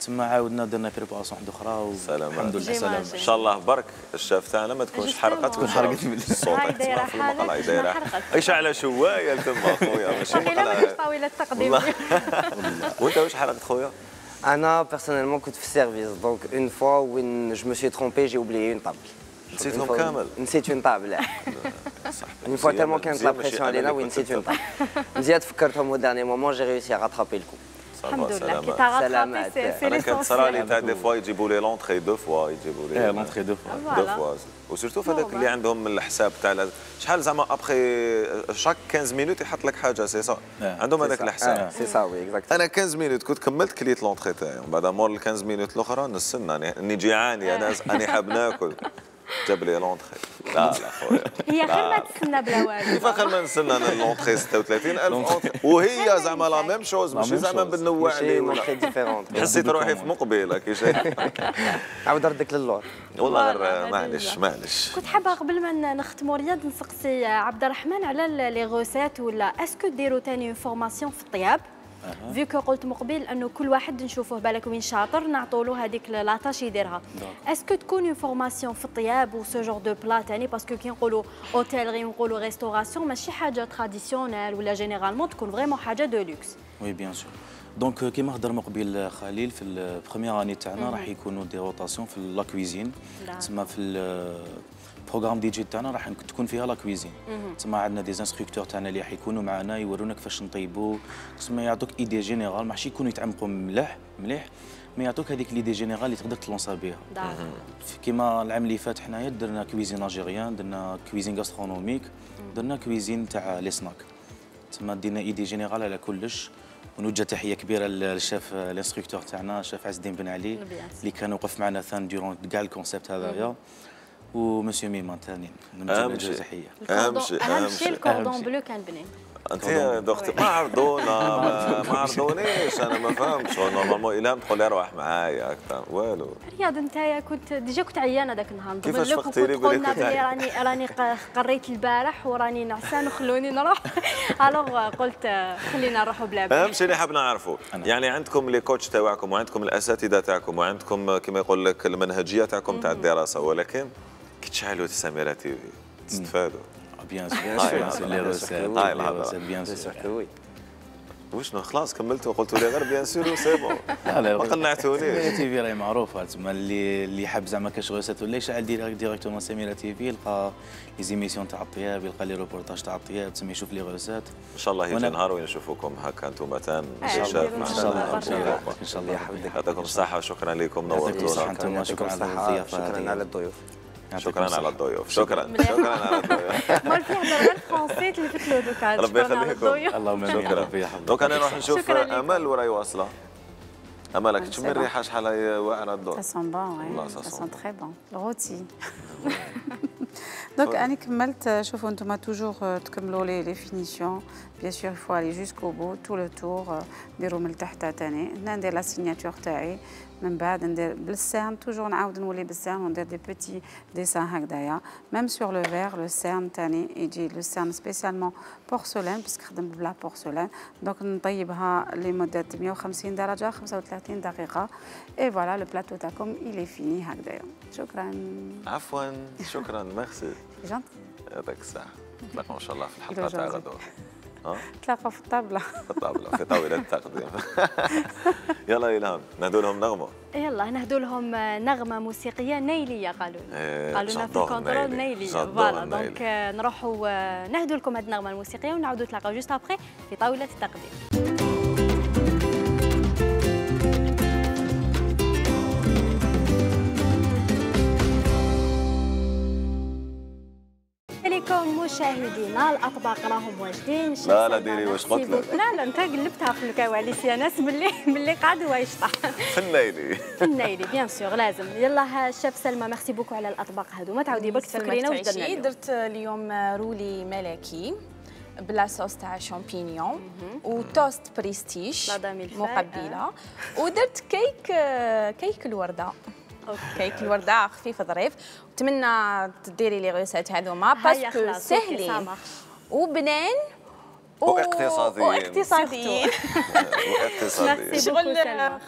تما عاودنا درنا بريباراسيون واحده اخرى والحمد لله سلامه. ان شاء الله برك الشاف تاعنا ما تكونش حرقت، تكون حرقت من الصوت تسمع في المقله. هاي دايره ايش على شوايه تما خويا ماشي مقله طاوله التقديم. وانت واش حرقت خويا؟ انا بيرسونيلمون كنت في السيرفيس دونك اون فوا وين جو مو سي ترومبي جي اوبليي اون طابل. نسيتهم كامل؟ نسيت اون طابل. اون فوا تالمون كانت لا بريسيون علينا وين نسيت اون طابل. مزيان تفكرتهم او داني مومون جي ريوسي غاترابي الكو. الحمد لله كي تغاترابي سي انا كنت صرا لي تاع دي فوا يجيبوا لي لونطري دو فوا يجيبوا لي لونطري دو فوا وسيرتو فهذاك اللي عندهم الحساب تاع شحال زعما ابخي شاك 15 مينوت يحط لك حاجه سي سا عندهم هذاك الحساب سي سا وي اكزاكت. انا 15 مينوت كنت كملت كليت لونطري تاعي ومن بعد مور ال 15 مينوت الاخرى نستنى اني جيعاني انا اني حاب ناكل جاب لي لونطري. لا لا خويا هي خير ما تستنى بلا والو. كيف خير ما نستنى انا اللونطري 36,000 وهي زعما لا ميم شوز ماشي زعما بنوع عليه ولا حسيت روحي في مقبله كي شايف. عاود ردك للور والله غير معليش. كنت حابه قبل ما نختموا رياض نسقسي عبد الرحمن على لي غوسيت ولا اسكو ديروا ثاني اون فورماسيون في الطياب فيكو قلت مقبل انه كل واحد نشوفوه بالك وين شاطر نعطوا له هذيك لاطاش يديرها. اسكو تكون اون فورماسيون في الطياب و سو جور دو بلا ثاني باسكو كي نقولوا اوتيلري ونقولوا ريستوراسيون ماشي حاجه تراديسيونيل ولا جينيرالمون تكون فريمون حاجه دو لوكس. وي بيان سور. دونك كيما هضر مقبل خليل في البروميير اني تاعنا راح يكونوا دي روتاسيون في لا كويزين. تسمى في البروغرام دي جي تاعنا راح تكون فيها لا كويزين. تسمى عندنا دي انستركتور تاعنا اللي راح يكونوا معنا يورونا كيفاش نطيبوا. تسمى يعطوك ايدي جينيرال ماشي يكونوا يتعمقوا مليح مي يعطوك هذيك ليدي جينيرال اللي تقدر تلونسا بها. كيما العام اللي فات حنايا درنا كويزين الجيريان، درنا كويزين غاسترونوميك، درنا كويزين تاع لي سناك. تسمى دينا ايدي جينيرال على كلش. ونوجه تحيه كبيره للشيف الانستركتور تاعنا الشيف عز الدين بن علي اللي كان وقف معنا ثان ديرون كاع الكونسيبت هذايا. ومسيو ميمان ثاني نوجه تحيه. اهم شيء الكوردون بلو كان بنين. انت يا دكتور ما عرضونا ما عرضونيش انا ما فهمتش نورمالمون الهام تقول اروح معايا اكثر والو. رياض انت كنت ديجا كنت عيانه ذاك النهار نضمن لك وكنت قلنا بلي راني قريت البارح وراني نعسان وخلوني نروح. الوغ قلت خلينا نروحوا بلا بال. اهم شيء اللي حاب نعرفوا يعني عندكم لي كوتش تاعكم وعندكم الاساتذه تاعكم وعندكم كما يقول لك المنهجيه تاعكم تاع الدراسه ولكن كي تشعلوا سميرة تي في تستفادوا. بيان سور لي روسيت بيان سور. وشنو خلاص كملتوا قلتوا لي غير بيان سور وسي بون. لا ما قنعتونيش. سميرة تي في راهي معروفه تسمى اللي حاب زعما كاش غوسيت ولا يشعل ديريكتومون سميرة تي في يلقى لي زيميسيون تاع الطياب يلقى لي روبورتاج تاع الطياب تسمى يشوف لي غوسيت. ان شاء الله يجي نهار وين نشوفوكم هكا انتم تان ان شاء الله ان شاء الله يعطيكم الصحه وشكرا لكم نورتونا. انتم شكرا على الضيافه. شكرا على الضيوف. شكرا على الضيوف. شكرا على الضيوف. مال في هضر غير فرونسي تلفتلو دوكا. ربي يخليكم. اللهم امين. شكرا. دوك انا نروح نشوف امل وراي واصله. امل تشمي الريحه شحال هي واعره الدور. Ça sent bon, ça sent très bon. Le rôti. Donc أنا كملت شوفوا أنتم توجور تكملوا لي فينيسيون بيان سور il faut aller jusqu'au bout tout le tour نديروا من تحت تاني هنا ندير لا سيناتور تاعي من بعد ندير بالسيرن توجور نعاود نولي بالسيرن وندير دي بيتي ديسان هكذايا ميم سور لو فير لو سيرن تاني يجي لو سيرن سبيسيالمون بورسلان باسكو خدم بلا بورسلان دونك نطيبها لمده 150 درجه 35 دقيقه اي فوالا لو بلاطو تاعكم إلي فيني هكذايا. شكرا. عفوا شكرا ميرسي. جونت. يعطيك الصحة. نتلاقاو إن شاء الله في الحلقة تاع غدوة. نتلاقاو في الطاولة. في الطاولة في طاولة التقديم. يلا إلهام نهدوا لهم نغمة. يلا نهدوا لهم نغمة موسيقية نيلية قالوا لنا في الكونترول نيلية. فوالا دونك نروحوا نهدوا لكم هذه النغمة الموسيقية ونعاودوا نتلاقاو جوست ابخي في طاولة التقديم. مشاهدينا الاطباق راهم واجدين. لا لا ديري واش قلت لك. لا انت قلبتها في الكواليس يا ناس باللي قاعد هو يشطح في النيلي. في النيلي بيان سور لازم. يلا شيف سلمى ميرسي بوكو على الاطباق هذو. ما تعاودي برك تفكرينا واش درنا اليوم. درت اليوم رولي ملكي بلا صوص تاع شامبينيون وتوست بريستيج مقبله، ودرت كيك الورده. كيك الورده خفيف ظريف. نتمنى تديري لي ريسيت هذوما باسكو سهلين وبنان واقتصاديين. شغل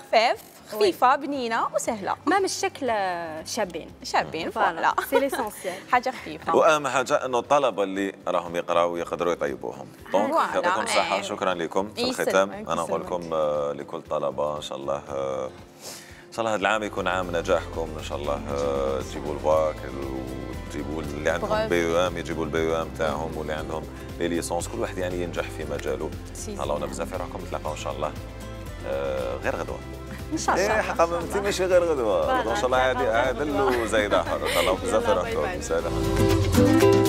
خفاف خفيفه بنينه وسهله. ما من الشكل شابين فوالا سي ليسونسيال. حاجه خفيفه. واهم حاجه انه الطلبه اللي راهم يقراوا يقدروا يطيبوهم. دونك يعطيكم الصحه. شكرا لكم. في الختام انا نقول لكم لكل الطلبه ان شاء الله هذا العام يكون عام نجاحكم. ان شاء الله تجيبوا الباك وتجيبوا اللي عندهم بي او ام يجيبوا البي او ام تاعهم، واللي عندهم لي ليسونس كل واحد يعني ينجح في مجاله. تهلاونا بزاف في روحكم. نتلاقاو ان شاء الله غير غدوه ان شاء الله. حقا انت ماشي غير غدوه ان شاء الله. عادل وزايده حر. تهلاو بزاف في روحكم. سلام.